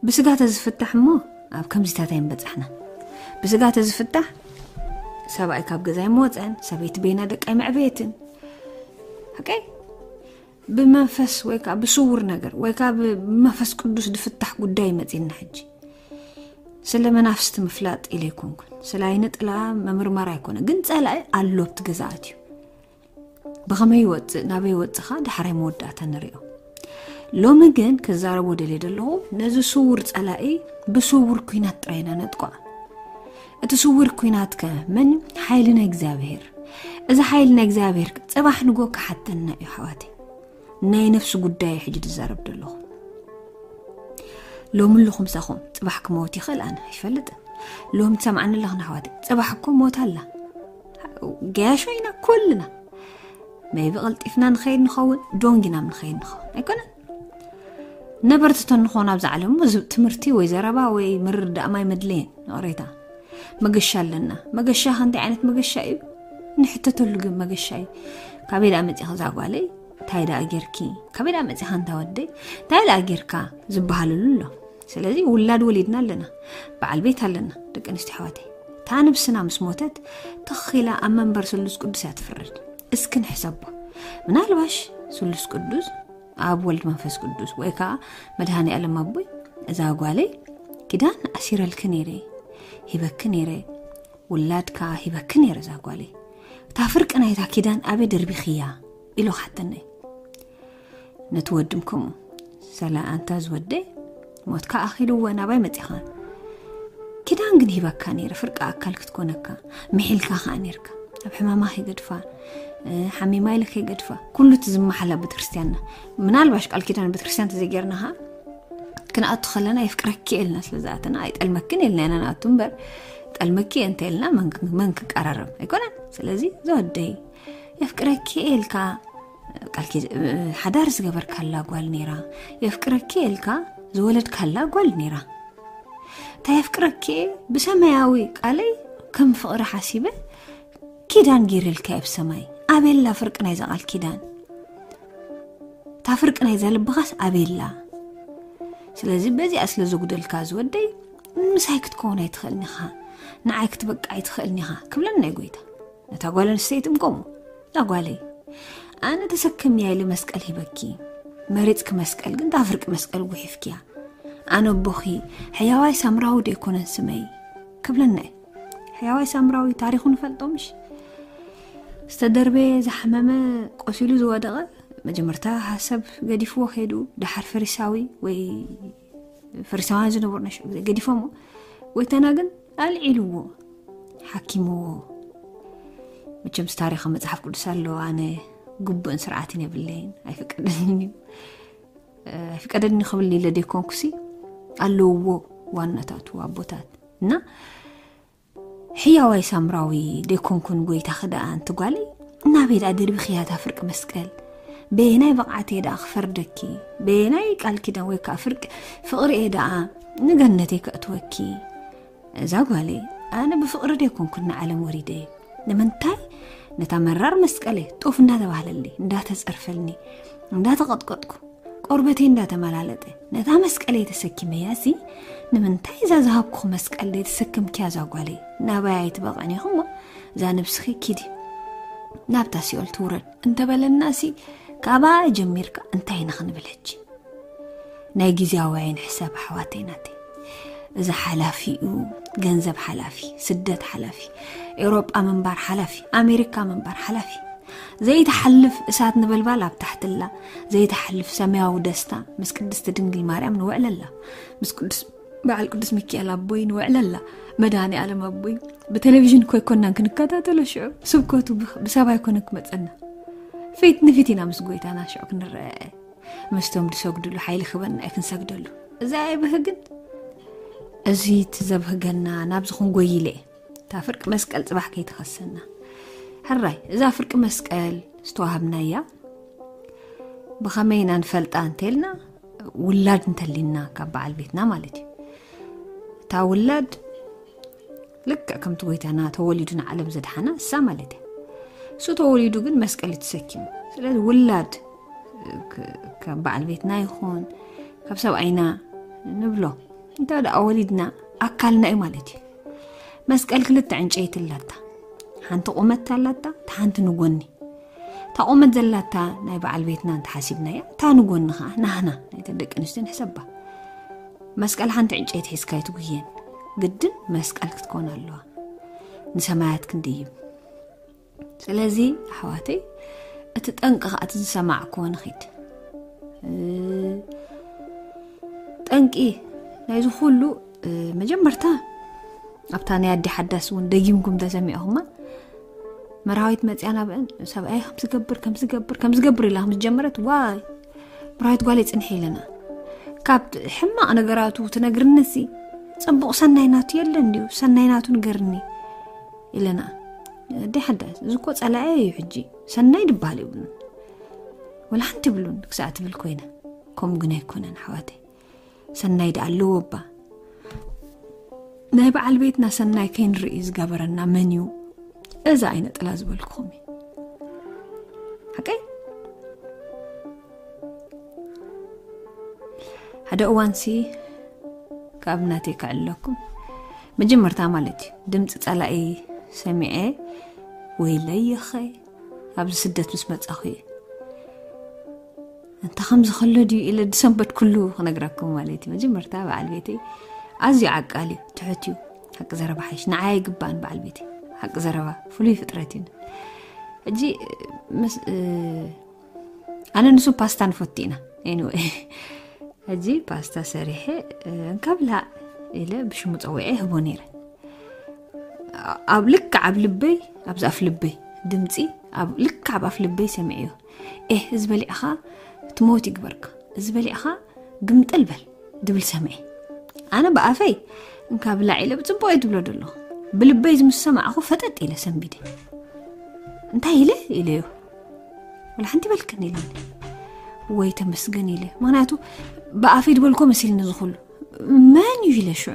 ብስጋ ተዝፍታሕ እሞ ኣብ ከምዚታት ኣይምበጻሕና። ብስጋ ተዝፍታሕ ሰብኣይ ካብ ገዛ ኣይምወፀን፣ ሰበይቲ በይና ደቃ ኣይምዕበየትን። ሓቀይ ብመንፈስ ወይ ከዓ ብስውር ነገር ወይ ከዓ ብመንፈስ ቅዱስ ዝፍታሕ ጉዳይ መፂና ሕጂ። ስለ መናፍስቲ ምፍላጥ ኢለ ኣይኮንኩን፣ ስለ ኣይነ ጥላ መምርማር ኣይኮነ፣ ግን ፀላኢ ኣሎ ኣብቲ ገዛኣት እዩ። ብኸመይ ይወፅእ ናበይ ይወፅእ ኸ ዳሕራይ መወዳእታ ንሪኦ። ሎሚ ግን ክዛረቦ ደልየ ዘለኹ ነዚ ስውር ፀላኢ ብስውር ኩናት ጥራይ ኢና ነጥቅዖ። እቲ ስውር ኩናት ከ መን? ሓይሊ ናይ እግዚኣብሔር። እዚ ሓይሊ ናይ እግዚኣብሔር ጽባሕ ንጎ ክሓተና እዩ ኣሕዋተይ። ናይ ነፍሲ ጉዳይ ሕጂ ዝዛረብ ዘለኹ። ሎሚ ኣለኹ ምሳኹም፣ ጽባሕ ክመውት ይኽእል፣ ኣነ ኣይፈልጥን። ሎሚ ትሰምዓኒ ኣለኽን ኣሕዋተይ፣ ጽባሕ እኮ ሞት ኣላ። ገያሾ ኢና ኩልና። maybe ቀልጢፍና ንኸይድ ንኸውን፣ ዶንጊና ንኸይድ ንኸውን ኣይኮነን። ነበርቲ ተንኾን ኣብዚ ዓለም እሞ ትምህርቲ ወይ ዘረባ ወይ ምርዳእ ማይ መድለየን። ይቕሬታ፣ መገሻ ኣለና። መገሻ ከ እንታይ ዓይነት መገሻ እዩ? ንሕተተሉ ግን መገሻ እዩ። ካበይ ደኣ መጺኻ እዛ ጓለይ? እንታይ ደኣ ጌርኪ? ካበይ ደኣ መጺኻ እንታ ወደይ? እንታይ ደኣ ጌርካ ዝበሃለሉ ኣሎ። ስለዚ ውላድ ወሊድና ኣለና፣ በዓል ቤት ኣለና። ደቂ ኣንስትዮ ኣሕዋተይ፣ እታ ነብስና ምስ ሞተት ትኽ ኢላ ኣብ መንበር ስሉስ ቅዱስ እያ ትፍረድ። እስኪ ንሕሰቦ። ምናልባሽ ስሉስ ቅዱስ ኣብ ወልድ መንፈስ ቅዱስ ወይ ከዓ መድሃኒ ኣለም ኣቦይ እዛ ጓለይ ኪዳን ኣሲረልኪ ነይረ፣ ሂበኪ ነይረ፣ ውላድ ከዓ ሂበኪ ነይረ እዛ ጓለይ። እታ ፍርቂ ናይታ ኪዳን ኣበይ ደርቢኽያ ኢሉ ክሓተኒ። ነቲ ወድም ከምኡ ሰላ ኣንታ ዝወደይ ሞትካ ኣኺልዎ ናባይ መጺኻ። ኪዳን ግን ሂበካ ነይረ ፍርቂ ኣካል ክትኮነካ፣ ምሒልካ ከዓ ነይርካ። ኣብ ሕማማ ከይገድፋ ሓሚማ ኢለ ከይገድፋ። ኩሉ እቲ ዝመሓላ ቤተክርስትያንና፣ ምናልባሽ ቃል ኪዳን ቤተክርስትያን ተዘይጌርና ኸዓ ክንኣቱ ከለና የፍቅረኪ እየ ኢልና ስለ ዝኣተና፣ ኣይጠልመክን ኢልና ኢና ንኣቱ እምበር፣ ጠልመኪ እየ እንተ ኢልና መን ክ- መን ክቀራረብ ኣይኮነን። ስለዚ ዝወደይ የፍቅረኪ እየ ኢልካ ቃል ኪ- ሓዳር ዝገበርካላ ጓል ነይራ፣ የፍቅረኪ እየ ኢልካ ዝወለድካላ ጓል ነይራ። እንታይ የፍቅረኪ እየ ብሰማያዊ ቃለይ ከም ፍቕሪ ሓሲበ ኪዳን ገይረልካ እየ ብሰማይ። ኣበላ ፍርቂ ናይዛ ቃል ኪዳን፣ እታ ፍርቂ ናይዛ ልብኻስ ኣበላ። ስለዚ በዚኣ ስለ ዘጉደልካ ዝወደይ ምሳይ ክትከውን ኣይትኽእልን ኢኻ፣ ንዓይ ክትበቃ ኣይትኽእልን ኢኻ ክብለና እዩ ጎይታ። ነታ ጓል ኣንስተይቲ እምከሞ እዛ ጓለይ ኣነ ተሰከምያ ኢለ መስቀል ሂበኪ፣ መሪፅኪ መስቀል ግን እታ ፍርቂ መስቀል ጉሒፍኪያ። ኣነ ኣቦኺ ሕያዋይ ሳምራዊ ዶ ኣይኮነን ስመይ ክብለና እዩ። ሕያዋይ ሳምራዊ ታሪኹ ንፈልጦ ምሽ? ዝተደርበየ ዝሓመመ ቆሲሉ ዝወደቐ መጀመርታ ሰብ ገዲፍዎ ከይዱ፣ ደሓር ፈሪሳዊ ወይ ፈሪሳውያን ዝነበሩ ናይ ሽዑ ግዜ ገዲፎምዎ። ጎይታና ግን ኣልዒልዎ፣ ሓኪምዎ። መቸምስ ታሪኽ መጽሓፍ ቅዱስ ኣሎ። ኣነ ግቡእን ስርዓትን የብለይን፣ ኣይፍቀደልንን እዩ። ኣይፍቀደልኒ ክብል ኢለ ደይኮንኩሲ ኣለውዎ ዋናታቱ ኣቦታት እና ሕያዋይ ሳምራዊ ደይኮንኩን ጎይታ ክደኣ እንት ጓለይ ናበይ ደኣ ደርቢኽያ እታ ፍርቂ መስቀል? በየናይ ብቕዓት እየ ደኣ ክፈርደኪ? በየናይ ቃል ኪዳን ወይ ከዓ ፍርቂ ፍቕሪ እየ ደኣ ንገነተይ ከእትወኪ? እዛ ጓለይ ኣነ ብፍቕሪ ደይኮንኩን ንዓለም ወሪደ እየ። ንምንታይ ነታ መራር መስቀለይ ጡፍ እንዳተባህለለይ እንዳተጸርፈልኒ እንዳተቐጥቀጥኩ ቆርበተይ እንዳተመላለጠ ነታ መስቀለይ ተሰኪመያ ሲ ንምንታይ እዛ ዝሃብኩኽ መስቀል ደይተሰክምክያ እዛ ጓለይ? ናባይ ኣይትበቕዕን ኢኹሞ እዛ ነብስኺ ኪዲ ናብታ ሲኦል ትውረድ እንተበለና ሲ ካባ ጀሚርካ እንታይ ንኽንብል ሕጂ? ናይ ግዜያዊ ኣይንሕሰብ ኣሕዋተይ ናተይ። እዚ ሓላፊ እዩ፣ ገንዘብ ሓላፊ፣ ስደት ሓላፊ፣ ኤውሮጳ ምንባር ሓላፊ፣ ኣሜሪካ ምንባር ሓላፊ። ዘይተሓልፍ እሳት ነበልባል ኣብ ታሕትላ ዘይተሓልፍ ሰማያዊ ደስታ ምስ ቅድስቲ ድንግል ማርያም ንውዕለላ፣ ምስ ቅዱስ በዓል ቅዱስ ሚካኤል ኣቦይ ንውዕለላ። መድኃኔ ዓለም ኣቦይ ብቴሌቪዥን እኮ ኣይኮናን ክንከታተሎ ሽዑ ስብከቱ ብሰብ ኣይኮነ ክመፀና፣ ፊት ንፊት ኢና ምስ ጎይታና ሽዑ ክንረአ። ምስቶም ዝሰግድሉ ሓይሊ ክበና እዩ ክንሰግደሉ። እዚ ኣይብህግን። እዚ እቲ ዘብህገና ናብዚ ክንጎይለ እየ። እታ ፍርቂ መስቀል ፅባሕ ከይትኸሰና። ሕራይ እዛ ፍርቂ መስቀል ዝተዋሃብናያ ብኸመይ ኢና ንፈልጣ እንተልና ውላድ እንተሊና ካብ በዓል ቤትና ማለት እዩ። እታ ውላድ ልክዕ ከምቲ ጎይታና ተወሊዱ ንዓለም ዘድሓና እሳ ማለት እያ። እሱ ተወሊዱ ግን መስቀል እዩ ተሰኪሙ። ስለዚ ውላድ ካብ በዓል ቤትና ይኹን ካብ ሰብኣይና ንብሎ እንተ ደኣ ወሊድና ኣካልና እዩ ማለት እዩ። መስቀል ክልተ ዕንጨይቲ ኣላታ፣ ሓንቲ ቁመት ኣላታ፣ እታ ሓንቲ ንጎኒ። እታ ቁመት ዘላታ ናይ በዓል ቤትና እንተሓሲብናያ እታ ንጎኒ ከዓ ናህና ናይተን ደቂ ኣንስትዮ ንሕሰባ። መስቀል ሓንቲ ዕንጨይቲ ሒዝካ ኣይትጉየን፣ ግድን መስቀል ክትኮን ኣለዋ ንሰማያት ክንድይብ። ስለዚ ኣሕዋተይ እቲ ጠንቂ ከዓ እቲ ዝሰማዕክዎ ንኺድ። ጠንቂ ናይዚ ኩሉ መጀመርታ ኣብታ ናይ ኣዲ ሓዳስ እውን ደጊምኩም ተሰሚዕኹማ። መርሃዊት መፅያ ናብአን ሰብኣይ ከምዝገብር ከምዝገብር ከምዝገብር ኢላ ከምዝጀመረት ዋይ መርሃዊት ጓል ይፅንሕ ኢለና። ካብ ሕማቕ ነገራቱ ትነግርንሲ ፅቡቕ ሰናይ ናቱ የለን ድዩ? ሰናይ ናቱ ንገርኒ ኢለና። ኣዲ ሓዳስ እዚ እኮ ፀላኤ እዩ ሕጂ ሰናይ ድበሃል የብሉን ወላ ሓንቲ ይብሉን ክሳዕ ትብል ኮይና። ከምኡ ግን ኣይኮነን ኣሕዋተይ። ሰናይ ደኣ ኣለዎ እባ። ናይ በዓል ቤትና ሰናይ ከይንርኢ ዝገበረና መን እዩ? እዛ ኣይነ ጥላ ዝበልኩኹም እዩ ሓቀይ። ሓደ እዋንሲ ካብ ናተይ ክዕለኩም መጀመርታ ማለት እዩ ድምፂ ፀላኢ ሰሚዐ ወይለይ ይኸ ኣብዚ ስደት ምስ መፃኹ እየ እንተ ከምዚ ከሎ ድዩ ኢለ ድሰንበት ኩሉ ክነግረኩም ማለት እዩ። መጀመርታ በዓል ቤተይ ኣዝዩ ዓቃል እዩ፣ ትሑት እዩ። ሓቂ ዘረባ ሓይሽ ንዓይ ኣይግባእን በዓል ቤተይ ሓቂ ዘረባ ፍሉይ ፍጥረት እዩ። ሕጂ ኣነ ንሱ ፓስታ ንፈቱ ኢና። ኤኒወይ ሕጂ ፓስታ ሰሪሐ እንካ ብላዕ ኢለ ብሽሙ ፀዊዐ ይህቦ ነይረ። ኣብ ልክዕ ኣብ ልበይ ኣብዚ ኣፍ ልበይ ድምፂ ኣብ ልክዕ ኣብ ኣፍ ልበይ ሰሚዐዮ። ኤህ፣ እዚ በሊዕኻ ትሞት ይግበርካ፣ እዚ በሊዕኻ ግምጥል በል ድብል ሰምዐ። ኣነ ብኣፈይ እንካ ብላዕ ኢለ ብፅቡቅ እየ ትብሎ ደሎ። ብልበይ ዝምሰማዕኹ ፈጠጥ ኢለ ሰንቢደ። እንታይ ኢለ ኢለዮ? ወላ ሓንቲ በልክን ኢለኒ። ወይ ተመስገን ኢለ፣ ምክንያቱ ብኣፈይ ዝበልኮ መሲልኒ ዝኹሉ። መን እዩ ኢለ ሽዑ?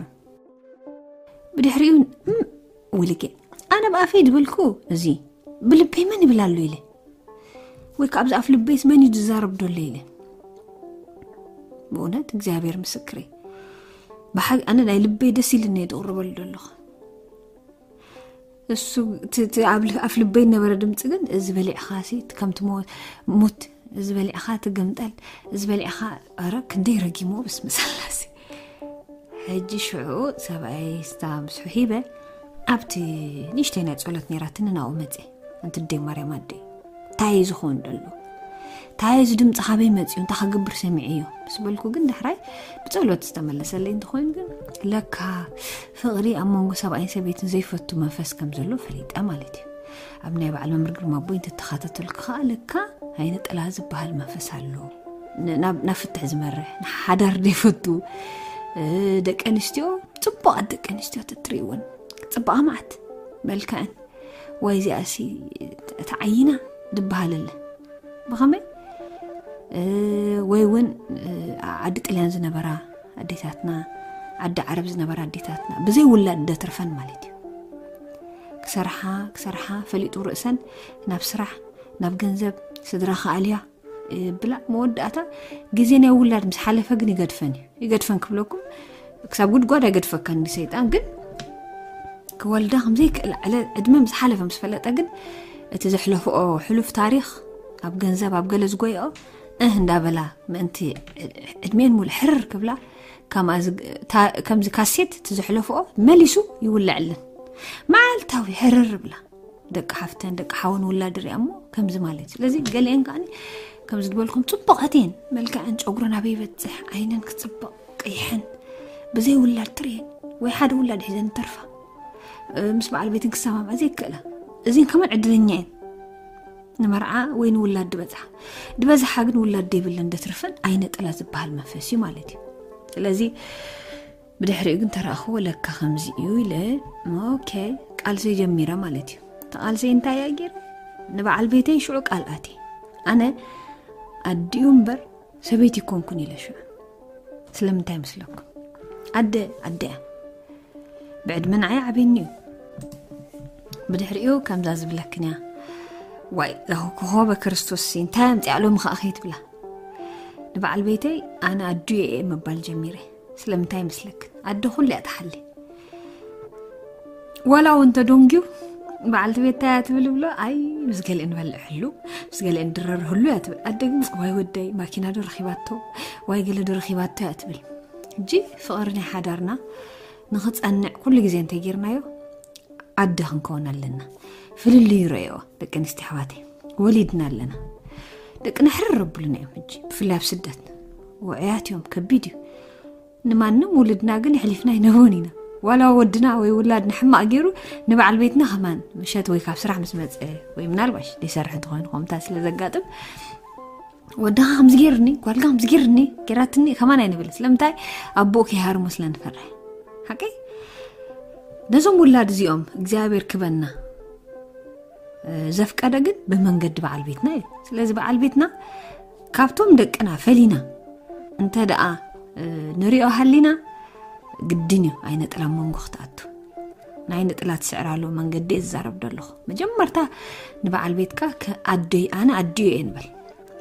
ብድሕሪኡ፣ "እም፣ ውልቄ፣ ኣነ ብኣፈይ ዝበልኩ እዚ ብልበይ መን ይብል ኣሎ?" ኢለ። ወይ ከኣ ኣብዚ ኣፍ ልበይስ መን እዩ ዝዛረብ ዘሎ ኢለ። ብእውነት እግዚኣብሔር ምስክሬ፣ ብሓቂ ኣነ ናይ ልበይ ደስ ኢልኒ እየ ዝቕርበሉ ዘለኹ። እሱ እቲ፣ እቲ ኣብ ል-፣ ኣፍ ልበይ ነበረ ድምፂ ግን፣ "እዚ በሊዕኻ ሲ ከምቲ ሞ-፣ ሙት፣ እዚ በሊዕኻ ትግምጠል፣ እዚ በሊዕኻ፣ ኧረ ክንደይ ረጊሞ ብስመ ስላሴ." ሕጂ ሽዑ ሰብኣይ ስታ ምስሑ ሂበ፣ ኣብቲ ንእሽተይ ናይ ጸሎት ነይራትኒ ናብኡ መጸ። ኣንቲ ኣደይ ማርያም ኣደይ፣ እንታይ እዩ ዝኸውን ደሎ? እንታይ እዚ ድምፂ ካበይ መፅዩ? እንታይ ክገብር ሰሚዐዮ? ምስ በልኩ ግን ዳሕራይ ብጸሎት ዝተመለሰለይ እንተኾይኑ ግን፣ ለካ ፍቕሪ ኣብ መንጎ ሰብኣይን ሰበይትን ዘይፈቱ መንፈስ ከም ዘሎ ፈሊጠ ማለት እዩ። ኣብ ናይ በዓል መምህር ግርማ ኣቦይ እንተተኻታተልኩ ከኣ ለካ ዓይነ ጥላ ዝበሃል መንፈስ ኣሎ። ን-፣ ናብ፣ ናብ ፍትሕ ዝመርሕ፣ ንሓዳር ዘይፈቱ፣ እ፣ ደቂ ኣንስትዮ፣ ጽቡቓት ደቂ ኣንስትዮ ተትርእይወን፣ ጽባቐ መዓት፣ መልክዐን፣ ወይ እዚኣሲ እቲ ዓይና ዝበሃለለ። ብኸመይ? እ፣ ወይ እውን፣ እ፣ ዓዲ ጥልያን ዝነበራ ኣዴታትና፣ ዓዲ ዓረብ ዝነበራ ኣዴታትና፣ ብዘይ ውላድ ደትርፈን ማለት እዩ። ክሰርሓ፣ ክሰርሓ፣ ፈሊጡ ርእሰን ናብ ስራሕ፣ ናብ ገንዘብ፣ ስድራ ከኣልያ፣ እ፣ ብላ መወዳእታ ግዜ ናይ ውላድ ምስ ሓለፈ ግን ይገድፈን እዩ። ይገድፈን ክብለኩም፣ ክሳብ ጉድጓድ ኣይገድፈካን ሰይጣን፣ ግን ክወልዳ ከም ዘይክእል ዕለ-፣ ዕድመ ምስ ሓለፈ ምስ ፈለጠ ግን እቲ ዘሕለፍኦ ሕሉፍ ታሪኽ ኣብ ገንዘብ ኣብ ገለ ዝጎይኦ እህ እንዳበላ ምእንቲ ዕድሜን ሙሉ ሕርር ክብላ፣ ከምኣ ዝግ-፣ ታ-፣ ከምዚ ካሴት እቲ ዘሕለፍኦ መሊሱ ይውለዐለን። መዓልታዊ ሕርር ብላ ደቂ ሓፍተን ደቂ ሓወን ውላድ ሪኣ እሞ ከምዚ ማለት እዩ። ስለዚ ገሊአን ከዓኒ ከምዚ ዝበልኩም ጽቡቓት እየን፣ መልክዐን ጨጉረን ኣበይ ይበጽሕ፣ ዓይነን ክጽብቕ ቀይሐን ብዘይ ውላድ ትርእየን ወይ ሓደ ውላድ ሒዘን ተርፋ፣ እ፣ ምስ በዓል ቤትን ክሰማምዓ ዘይክእላ። እዚን ከማን ዕድለኛ እየን። ንመርዓ ወይ ንውላድ ድበጽሓ። ድበዝሓ ግን ውላድ ደይብለን ደትርፈን ኣይነ ጥላ ዝበሃል መንፈስ እዩ ማለት እዩ። ስለዚ ብድሕሪኡ ግን ተረኣኽዎ ለካ ከምዚ እዩ ኢለ፣ ኦኬ፣ ቃልሰይ ጀሚረ ማለት እዩ። ተቃልሰይ እንታይ እያ ገይረ? ንበዓል ቤተይ ሽዑ ቃል ኣትየ። ኣነ ኣዲኡ እምበር ሰበይቲ ይኮንኩን ኢለ ሽዑ። ስለምንታይ መስለኩም? ኣደ፣ ኣደ እያ። ብዕድመ ንዓይ ዓብየኒ እዩ። ብድሕሪኡ ከምዛ ዝብለክን እያ። ዋይ፣ ዛኹ ኮኾበ ክርስቶስ ሲ፣ እንታይ ኣምፅኣ ሎሚ ኸኣ ከይትብላ። ንበዓል ቤተይ ኣነ ኣዱ እየ ምባል ጀሚረ። ስለምንታይ ይመስለክን? ኣደ ኩሉ እያ ትሓሊ። ዋላ እውን ተደንግዩ በዓልቲ ቤት እንታይ እያ ትብል ብሎ፣ ኣይ፣ ምስ ገሊአን ንበልዕ ህሉ፣ ምስ ገሊአን ድረር ህሉ እያ ትብል። ኣደ ግን፣ ዋይ ወደይ፣ ማኪና ዶ ረኺባቶ? ዋይ ገለ ዶ ረኺባቶ እያ ትብል። ሕጂ ፍቕሪ ናይ ሓዳርና ንኽጸንዕ ኩሉ ግዜ እንተጌርናዮ፣ ኣደ ክንከውን ኣለና። ፍልልዩ ረእዮ፣ ደቂ ኣንስትዮ ኣሕዋተይ። ወሊድና ኣለና። ደቅና ሕርር ኣብሉና እዮም ሕጂ፣ ብፍላይ ኣብ ስደት። ውዑያት እዮም፣ ከቢድ እዩ። ንማንም ውልድና ግን የሕሊፍና ኣይንህቦን ኢና። ዋላ ወድና ወይ ውላድና ሕማቕ ገይሩ ንበዓል ቤትና ከማን ምሸት ወይ ካብ ስራሕ ምስ መጸ ወይ ምናልባሽ ዘይሰርሕ እንተኾይኑ ከምታ ስለ ዘጋጥም፣ "ወድኻ ከምዚ ገይርኒ፣ ጓልካ ከምዚ ገይርኒ፣ ገይራትኒ" ከማን ኣይንብል። ስለምንታይ? ኣቦኡ ከይሃርሞ ስለ ንፈርሕ። ሓቀይ? ነዞም ውላድ እዚኦም እግዚኣብሔር ክበና፣ እ፣ ዘፍቀደ ግን ብመንገዲ በዓል ቤትና እዩ። ስለዚ በዓል ቤትና ካብቶም ደቅና ፈሊና እንተ ደኣ፣ እ፣ ንሪኦ ሃሊና፣ ግድን እዩ ኣይነ ጥላ መንጎ ክትኣቱ። ናይ ንጥላ ትስዕራሉ መንገዲ እየ ዝዛረብ ዘለኹ። መጀመርታ ንበዓል ቤትካ ከ-፣ ኣደይ፣ ኣነ ኣዲኡ እየ ንበል።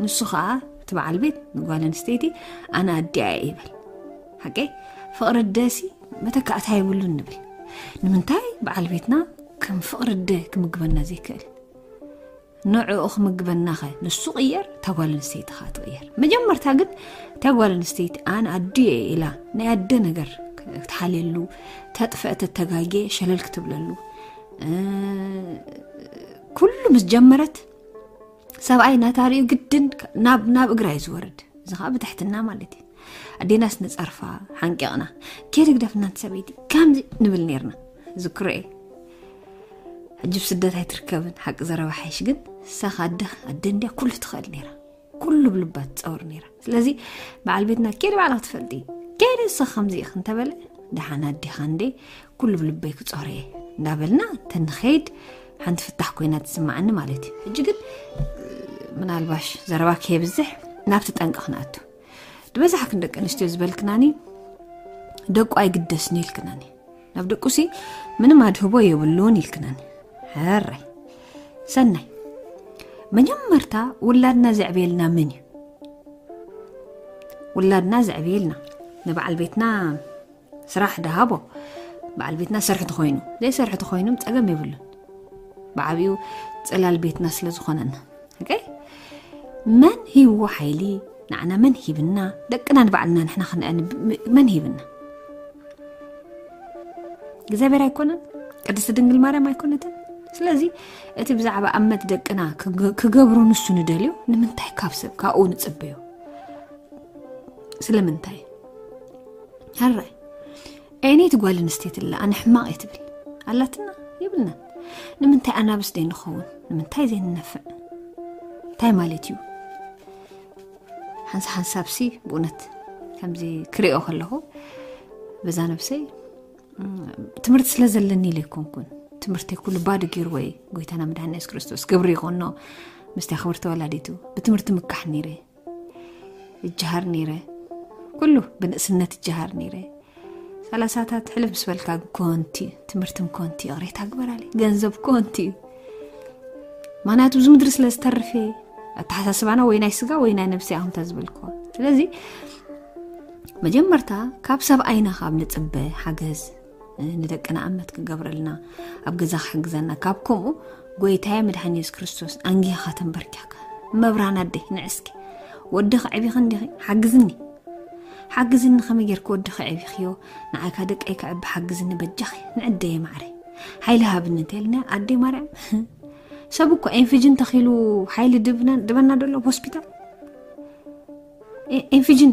ንሱ ኸኣ እቲ በዓል ቤት ንጓል ኣንስተይቲ ኣነ ኣዲኣ እየ ይበል። ሓቀይ? ፍቕሪ ኣደሲ መተካእታ የብሉን ንብል። ንምንታይ በዓል ቤትና ከም ፍቕሪ ኣደ ክምግበና ዘይክእል? ንዕኡ ክምግበናኸ ንሱ ቅየር፣ እታ ጓል ኣንስተይቲ ኸኣ ትቕየር። መጀመርታ ግን እታ ጓል ኣንስተይቲ ኣነ ኣዲኡ እየ ኢላ ናይ ኣደ ነገር ክትሓልየሉ፣ ተጥፍአ፣ ተተጋጌ፣ ሸለል ክትብለሉ፣ እ፣ ኩሉ ምስ ጀመረት ሰብኣይ ናታ ርእዩ ግድን ናብ፣ ናብ እግራ እዩ ዝወርድ። እዚ ኸኣ ብትሕትና ማለት እዩ። ኣዴናስ ንጸርፋ ሓንቂቕና፣ "ኬድ ግደፍ እናንተ ሰበይቲ" ከምዚ ንብል ነይርና። ዝክሮ እየ። ሕጂ ብስደት ኣይትርከብን፣ ሓቂ ዘረባ ሓይሽ ግን እሳ ኣደኽ ኣደ እንድያ ኩሉ ትኽእል ነይራ። ኩሉ ብልባ ትፀውር ነይራ። ስለዚ በዓል ቤትና ኬዲ ባዕላ ክትፈልጢ፣ ኬዲ እሳ ከምዚ ኢኽ እንተበለ፣ ደሓን ኣዴኻ እንዴ ኩሉ ብልበይ ክፀውር እየ እንዳበልና ተንኸይድ ሓንቲ ፍታሕ ኮይና ትስማዓኒ ማለት እዩ። ሕጂ ግን ምናልባሽ ዘረባ ከየብዝሕ ናብቲ ጠንቂ ክንኣቱ። ዝበዛሕክን ደቂ ኣንስትዮ ዝበልክናኒ ደቁ ኣይግደስን ኢልክናኒ። ናብ ደቁሲ ምንም ኣድህቦ የብሉን ኢልክናኒ። ሕራይ ሰናይ። መጀመርታ ውላድና ዘዕብየልና ምን እዩ? ውላድና ዘዕብየልና ንበዓል ቤትና ስራሕ ደሃቦ። በዓል ቤትና ሰርሒ ተኾይኑ ዘይሰርሒ ተኾይኑ ጸገም የብሉን። ብዓብኡ ጽላል ቤትና ስለ ዝኾነና። ኦኬ? መን ሂብዎ ሓይሊ? ንዓና መን ሂብና? ደቅና ንባዕልና ንሕና ክንዕን መን ሂብና? እግዚኣብሔር ኣይኮነን? ቅድስቲ ድንግል ማርያም ኣይኮነትን? ስለዚ እቲ ብዛዕባ ኣመት ደቅና ክገ- ክገብሮ ንሱ ንደልዮ ንምንታይ ካብ ሰብ ካብኡ ንጽበዮ? ስለምንታይ? ሕራይ ኤኒት ጓል ኣንስተይቲ ኣላ ኣነ ሕማቕ እየ ትብል ኣላትና? የብልናን። ንምንታይ ኣናብስ ዘይንኸውን? ንምንታይ ዘይንነፍዕ? እንታይ ማለት እዩ? ሓንሳ ሓንሳብሲ ብእውነት ከምዚ ክሪኦ ከለኹ በዛ ነብሰይ ትምህርቲ ስለ ዘለኒ ኢለ ኣይኮንኩን። ትምህርተይ ኩሉ ባዶ ገይርዎ እዩ ጎይታና መድሓኒ የሱስ ክርስቶስ። ክብሪ ይኹኖ ምስቲ ክብርቲ ወላዲቱ። ብትምህርቲ ምካሕ ነይረ፣ እጀሃር ነይረ፣ ኩሉ ብንእስነት እጀሃር ነይረ። ሰላሳታት ሕልፍ ምስ በልካ ኮንቲ፣ ትምህርትም ኮንቲ፣ ይቕሬታ ግበራለይ፣ ገንዘብ ኮንቲ እዩ። ምክንያቱ እዚ ምድሪ ስለ ዝተርፍ እየ። ኣተሓሳስባና ወይ ናይ ስጋ ወይ ናይ ነብሲ ኣኹምታ ዝበልክዎ። ስለዚ መጀመርታ ካብ ሰብኣይና ካብ ንጽበ ሓገዝ ንደቅና ኣመት ክገብረልና ኣብ ገዛ ክሕግዘና ካብ ከምኡ ጎይታየ መድሓኒ የሱስ ክርስቶስ ኣንጊኻ ተንበርኪኻ መብራን ኣደይ ንዕስኪ ወዲ ከዕቢኺ እንዲኺ ሓግዝኒ ሓግዝኒ ከመይ ጌርኪ ወዲ ከዕቢኽዮ ንዓይካ ደቀይ ከዕቢ ሓግዝኒ በጃኺ ንዕደየ ማዕረ ሓይሊ ሃብኒ እንተልና ኣደይ ማርያም ሰብ እኮ ኤንፍጅን ተኺሉ ሓይሊ ድብና ድበና ደሎ ሆስፒታል ኢንፊጅን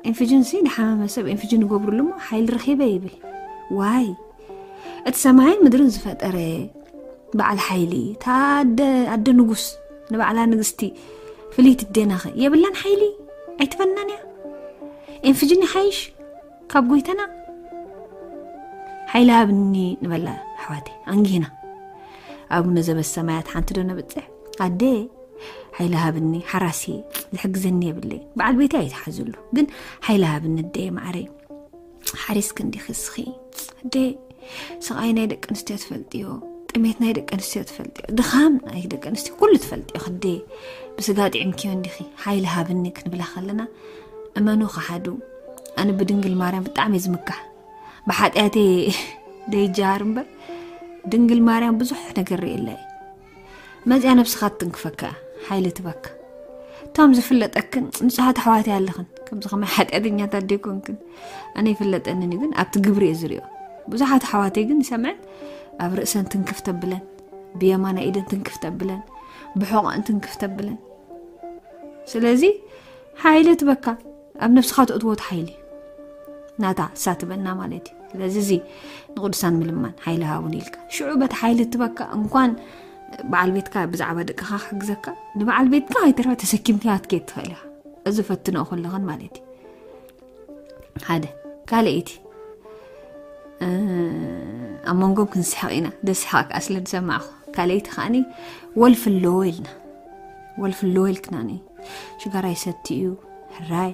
ኢንፊጅን ሲ ንሓመመ ሰብ ኢንፊጅን ይገብሩሉ እሞ ሓይሊ ረኺበ ይብል ዋይ እቲ ሰማይን ምድርን ዝፈጠረ በዓል ሓይሊ እታ ኣደ ኣደ ንጉስ ንባዕላ ንግስቲ ፍልይቲ ደናኸ የብላን ሓይሊ ኣይትበናን እያ ኢንፊጅን ይሓይሽ ካብ ጎይተና ሓይሊ ሃብኒ ንበላ ኣሕዋተይ ኣንጊህና ኣቡነ ዘበሰማያት ሓንቲ ዶ ነብፅሕ ኣደ ሓይሊ ሃብኒ ሓራሲ ዝሕግዘኒ የብለይ በዓል ቤተይ ኣይትሓዝሉ ግን ሓይሊ ሃብኒ ኣደ ማዕረይ ሓሪስኪ እንዲኺ እስኺ ኣደ ስቓይ ናይ ደቂ ኣንስትዮ ትፈልጥዮ ጥሜት ናይ ደቂ ኣንስትዮ ትፈልጥዮ ድኻም ናይ ደቂ ኣንስትዮ ኩሉ ትፈልጥዮ ክደ ብስጋ ጥዕምክዮ እንዲኺ ሓይሊ ሃብኒ ክንብላ ከለና እመኑ ከሓዱ ኣነ ብድንግል ማርያም ብጣዕሚ ዝምካሕ ብሓጢኣተይ ደይጀሃር እምበር ድንግል ማርያም ብዙሕ ነገር ርእየላ እየ መዚኣ ነብስኻ ትትንክፈካ እያ ሓይሊ ትበካ እቶም ዝፍለጠክን ንጹሃት ኣሕዋት ኣለኽን ከምዚ ከማይ ሓጢኣተኛታት ደይኮንክን ኣነ ይፍለጠንን እዩ ግን ኣብቲ ግብሪ እየ ዝሪኦ ብዙሓት ኣሕዋተይ ግን ይሰምዐን ኣብ ርእሰን ትንክፍ ተብለን ብየማና ኢደን ትንክፍ ተብለን ብሕቆን ትንክፍ ተብለን ስለዚ ሓይሊ ትበካ ኣብ ነብስኻ ትእትዎ ሓይሊ ናታ እሳ ትበና ማለት እዩ ስለዚ እዚ ንቅዱሳን ምልማን ሓይሊ ሃቡን ኢልካ ሽዑ በቲ ሓይሊ ትበካ እንኳን በዓል ቤትካ ብዛዕባ ደቅኻ ክሕግዘካ ንበዓል ቤትካ ኣይተረፈ ተሰኪምካ ትከድ ትኽእል ኢኻ እዚ ፈትነኦ ከለኽን ማለት እዩ ሓደ ካልኣይቲ ኣብ መንጎም ክንስሕቕ ኢና ደስሓቕ ከዓ ስለ ዝሰማዕኹ ካልኣይቲ ከዓኒ ወልፊ ኣለዎ ኢልና ወልፊ ኣለዎ ኢልክናኒ ሽጋራ ይሰቲ እዩ ሕራይ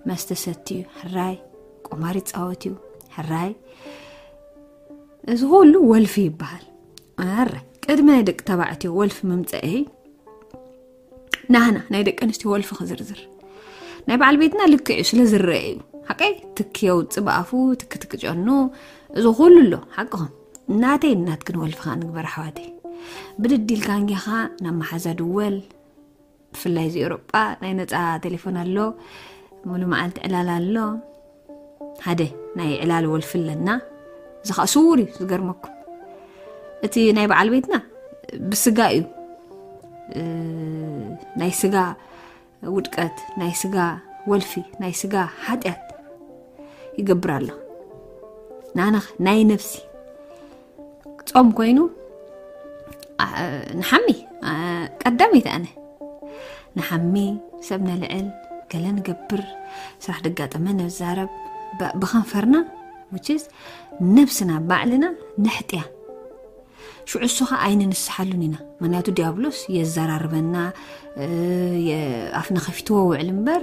መስተ ሰቲ እዩ ሕራይ ቁማር ይፃወት እዩ ሕራይ እዚ ኩሉ ወልፊ ይበሃል ኣረ ቅድሚ ናይ ደቂ ተባዕትዮ ወልፊ ምምፀአይ ናህና ናይ ደቂ ኣንስትዮ ወልፊ ክዝርዝር ናይ በዓል ቤትና ልክዕ እዩ ስለ ዝረአ እዩ ሓቀይ ትኪ የውፅእ ብኣፉ ትኪ ትክጨኑ እዚ ኩሉ ኣሎ ሓቅኹም እናተይ እናትክን ወልፍኻ ንግበር ኣሕዋተይ ብድድ ኢልካ እንጌኻ ናብ መሓዛ ድወል ብፍላይ እዚ ኤውሮጳ ናይ ነፃ ቴሌፎን ኣሎ ሙሉ መዓልቲ ዕላል ኣሎ ሓደ ናይ ዕላል ወልፊ ኣለና እዚ ከዓ ስውር እዩ ዝገርመኩም እቲ ናይ በዓል ቤትና ብስጋ እዩ ናይ ስጋ ውድቀት ናይ ስጋ ወልፊ ናይ ስጋ ሓጢኣት ይገብር ኣሎ ናና ናይ ነፍሲ ጾም ኮይኑ ንሓሚ ቀዳመይቲ ኣነ ንሓሚ፣ ሰብ ነልዕል፣ ገለ ንገብር፣ ስራሕ ደጋጠመ ነዛረብ፣ ብ- ብኸንፈርና፣ which is ነብስና ባዕልና ነሕጥያ። ሽዑ እሱ ኸዓ ኣይንንስሓሉን ኢና። ምክንያቱ ዲያብሎስ የዘራርበና፣ እ፣ የ- ኣፍና ከፊትዎ ውዕል እምበር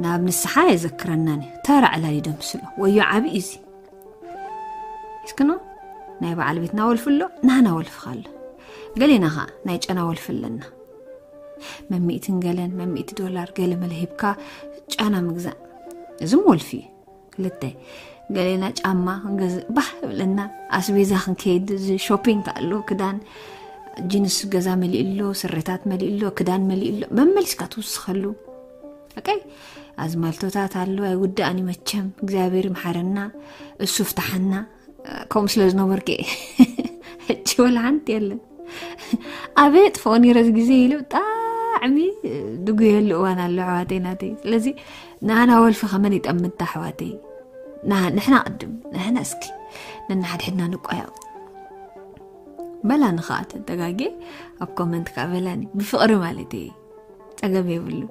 ናብ ንስሓ የዘክረናን እዩ። ተራ ዕላል ይደምስሎ። ወዮ ዓብዪ እዚ እስክኖ ናይ በዓል ቤትና ወልፊ ኣሎ፣ ናህና ወልፊ ኣሎ። ገሌና ኸዓ ናይ ጨና ወልፊ ኣለና። መሚእትን ገለን መሚእቲ ዶላር ገለ መለ ሂብካ ጨና ምግዛእ፣ እዝም ወልፊ እዩ። ክልተ፣ ገሌና ጫማ ክንገዝእ ባህ ብለና፣ ኣስቤዛ ክንከይድ፣ እዚ ሾፒንግ ኣሎ፣ ክዳን ጂንስ ገዛ መሊኡ ኣሎ፣ ስረታት መሊኡ ኣሎ፣ ክዳን መሊኡ ኣሎ፣ መመሊስካ ትውስኸሉ። ኦኬ፣ ኣዝማልቶታት ኣሎ፣ ኣይውዳእን እዩ መቸም። እግዚኣብሔር ይምሓረና፣ እሱ ፍታሓና። ከምኡ ስለ ዝነበርኩ ሕጂ ወላ ሓንቲ የለን። ኣበይ ጥፍኦ ነይረ እዚ ግዜ ኢሉ ብጣዕሚ ድጉየሉ እዋን ኣሎ ኣሕዋተይ ናተይ። ስለዚ ንኣና ወልፊ ከመን ይጠምታ ኣሕዋተይ? ንሕና ቅድም ንሕና እስኪ ነናሓድሕድና ንቋየቕ። በላኒ ከዓ ተተጋጌ ኣብ ኮመንት ከዓ በላኒ ብፍቕሪ ማለት እየ። ጸገም የብሉ።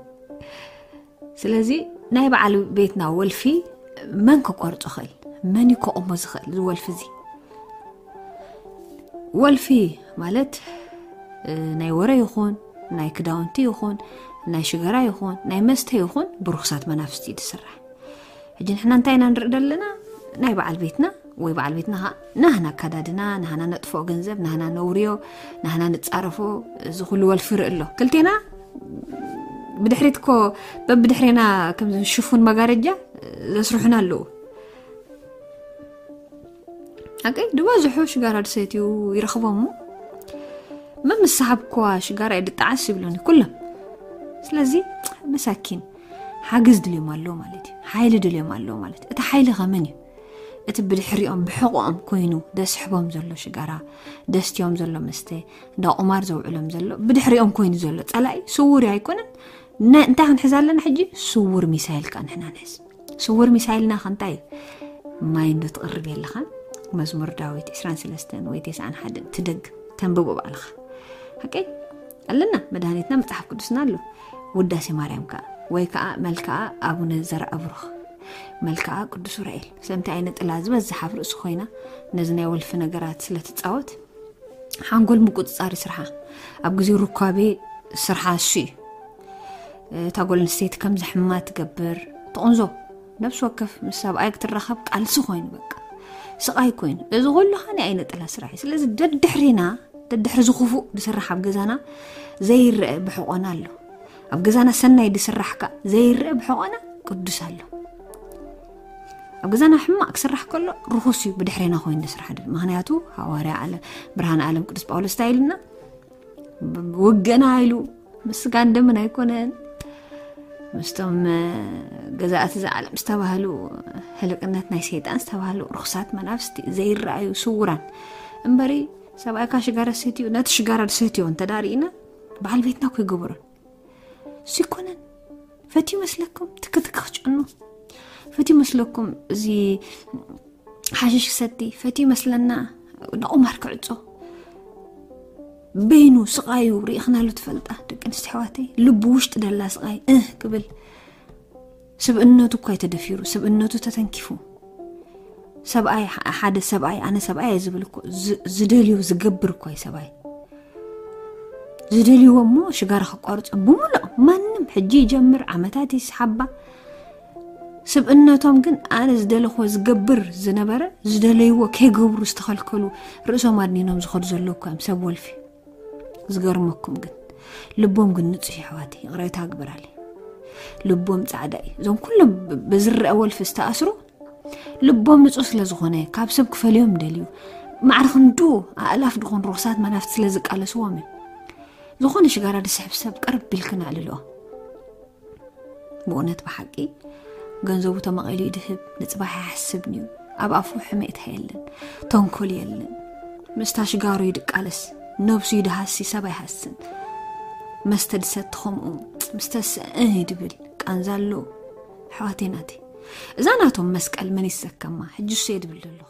ስለዚ ናይ በዓል ቤትና ወልፊ መን ክቆርጾ ኽእል? መን እዩ ክቆሞ ዝኽእል እዚ ወልፊ እዚ? ወልፊ ማለት ናይ ወረ ይኹን ናይ ክዳውንቲ ይኹን ናይ ሽገራ ይኹን ናይ መስተ ይኹን ብርኩሳት መናፍስቲ እዩ ዝስራሕ። ሕጂ ንሕና እንታይ ኢና ንርኢ ዘለና? ናይ በዓል ቤትና ወይ በዓል ቤትና ኸዓ ናህና ኣካዳድና፣ ናህና ነጥፍኦ ገንዘብ፣ ናህና ነውርዮ፣ ናህና ንጻረፎ፣ እዚ ኩሉ ወልፊ ርኢ ኣሎ። ክልቴና ብድሕሪት እኮ በብድሕሬና ከም ሽፉን መጋረጃ ዘስርሑና ኣለዉ። ኣቀይ ድበዝሑ ሽጋራ ድሰትዩ ይረኽቦም እሞ መምስሓብ እኳ ሽጋራ ድጣዓስ ይብሉኒ ኩሎም። ስለዚ መሳኪን ሓገዝ ድልዮም ኣሎ ማለት እዩ። ሓይሊ ድልዮም ኣሎ ማለት እዩ። እቲ ሓይሊ ከመን እዩ? እቲ ብድሕሪኦም ብሕቆኦም ኮይኑ ደስሕቦም ዘሎ ሽጋራ፣ ደስትዮም ዘሎ መስተ፣ እንዳ ቁማር ዘውዕሎም ዘሎ ብድሕሪኦም ኮይኑ ዘሎ ጸላኢ ስውር ኣይኮነን። ነ- እንታይ ክንሕዝ ኣለና ሕጂ? ስውር ሚሳይል ከ ንሕና ንሕዝ። ስውር ሚሳይልና ከ እንታይ እዩ? ማይ እንዶ ትቕርብ የለኻን? መዝሙር ዳዊት ዕስራን ሰለስተን ወይ ተስዓን ሓደን ትደግ ተንብቦ ባዕልኻ። ሓቀይ ኣለና፣ መድሃኒትና መጽሓፍ ቅዱስና ኣሎ። ውዳሴ ማርያም ከኣ ወይ ከኣ መልክዓ ኣቡነ ዘርአብሩኽ፣ መልክዓ ቅዱስ ኡራኤል። ስለምንታይ ኣይነ ጥላ ዝበዝሕ ኣብ ርእሱ ኮይና ነዚ ናይ ወልፊ ነገራት ስለ ትጻወት ሓንጎል ምቁጽጻር ይስርሓ። ኣብ ግዜ ሩካቤ ስርሓ እሱ እዩ። እታ ጓል ኣንስተይቲ ከም ዘሕማ ትገብር፣ ትቕንዞ። ነብሲ ወከፍ ምስ ሰብኣይ ክትራኸብ ቃልሲ ኮይኑ በቃ ስቓይ ኮይኑ። እዚ ኩሉ ኸኒ ኣይነ ጥላ ስራሕ እዩ። ስለዚ ደድሕሪና፣ ደድሕሪ ዝኽፉእ ዝስራሕ ኣብ ገዛና ዘይረአ ብሕቆና ኣሎ። ኣብ ገዛና ሰናይ ዝስራሕ ከ ዘይረአ ብሕቆና ቅዱስ ኣሎ። ኣብ ገዛና ሕማቕ ክስራሕ ከሎ ርኹስ እዩ ብድሕሬና ኮይኑ ዝስራሕ ድል። ምኽንያቱ ሃዋርያ ኣለ- ብርሃን ዓለም ቅዱስ ጳውሎስ እንታይ ኢሉና? ብ- ውግእና ኢሉ ምስ ስጋን ደምን ኣይኮነን፣ ምስቶም እ፣ ገዛእቲ እዚ ዓለም ዝተባህሉ፣ ህልቅነት ናይ ሰይጣን ዝተባህሉ ርኹሳት መናፍስቲ ዘይረኣዩ ስውራን እምበሪ። ሰብኣይካ ሽጋራ ሰትዩ ነቲ ሽጋራ ዝሰትዮ እንተዳርኢና በዓል ቤትና እኮ ይገበሮን እሱ ይኮነን። ፈትዩ መስለኩም ትክትክ ክጭኑ ፈትዩ መስለኩም እዚ ሓሽሽ ክሰቲ ፈትዩ መስለና ንቁማር ክዕጾ በይኑ ስቓዩ ርኢኽናሉ ትፈልጣ? ደቂ ኣንስትዮ ኣሕዋተይ፣ ልቡ ውሽጢ ደላ ስቓይ እህ ክብል፣ ስብእነቱ እኳ ተደፊሩ፣ ስብእነቱ ተተንኪፉ፣ ሰብኣይ፣ ሓደ ሰብኣይ፣ ኣነ ሰብኣይ እየ ዝብል እኮ፣ ዝ- ዝደልዮ ዝገብር እኳ እዩ ሰብኣይ። ዝደልይዎ እሞ ሽጋራ ከቋርጾ ብምሉእ ማንም ሕጂ ይጀምር፣ ዓመታት ይስሓባ። ስብእነቶም ግን ኣነ ዝደለኽዎ ዝገብር ዝነበረ፣ ዝደለይዎ ከይገብሩ ዝተኸልከሉ፣ ርእሶም ኣድኒኖም ዝኸዱ ዘለዉ እኳ እዮም ሰብ ወልፊ። ዝገርመኩም ግን ልቦም ግን ንጹህ እዩ ኣሕዋተይ፣ ይቕሬታ ግበራለይ። ልቦም ጻዕዳ እዩ። እዞም ኩሎም ብ- ብዝረአ ወልፊ ዝተኣስሩ ልቦም ንጹህ ስለ ዝኾነ ካብ ሰብ ክፈልዮም ደልዩ ማዕረ ክንዱ ኣእላፍ ድኾን ርኹሳት መናፍት ስለ ዝቃለስዎም እዩ። ዝኾነ ሽጋራ ድስሕብ ሰብ ቅርብ ቢልክን ኣዕልልኦ። ብእውነት ብሓቂ ገንዘቡ ተመቒሉ ይድህብ፣ ንጽባሕ ኣይሓስብን እዩ። ኣብ ኣፉ ሕሜታ የለን፣ ተንኮል የለን። ምስታ ሽጋሩ ይድቃለስ፣ ነብሱ ይድሃሲ፣ ሰብ ኣይሃስን። መስተ ድሰቲ ከምኡ፣ ምስተ ስእህ ይድብል፣ ቃንዛ ኣሎ። ኣሕዋተይ ናተይ፣ እዛ ናቶም መስቀል መን ይሰከማ? ሕጂ እሱ እየ ድብል ዘለኹ።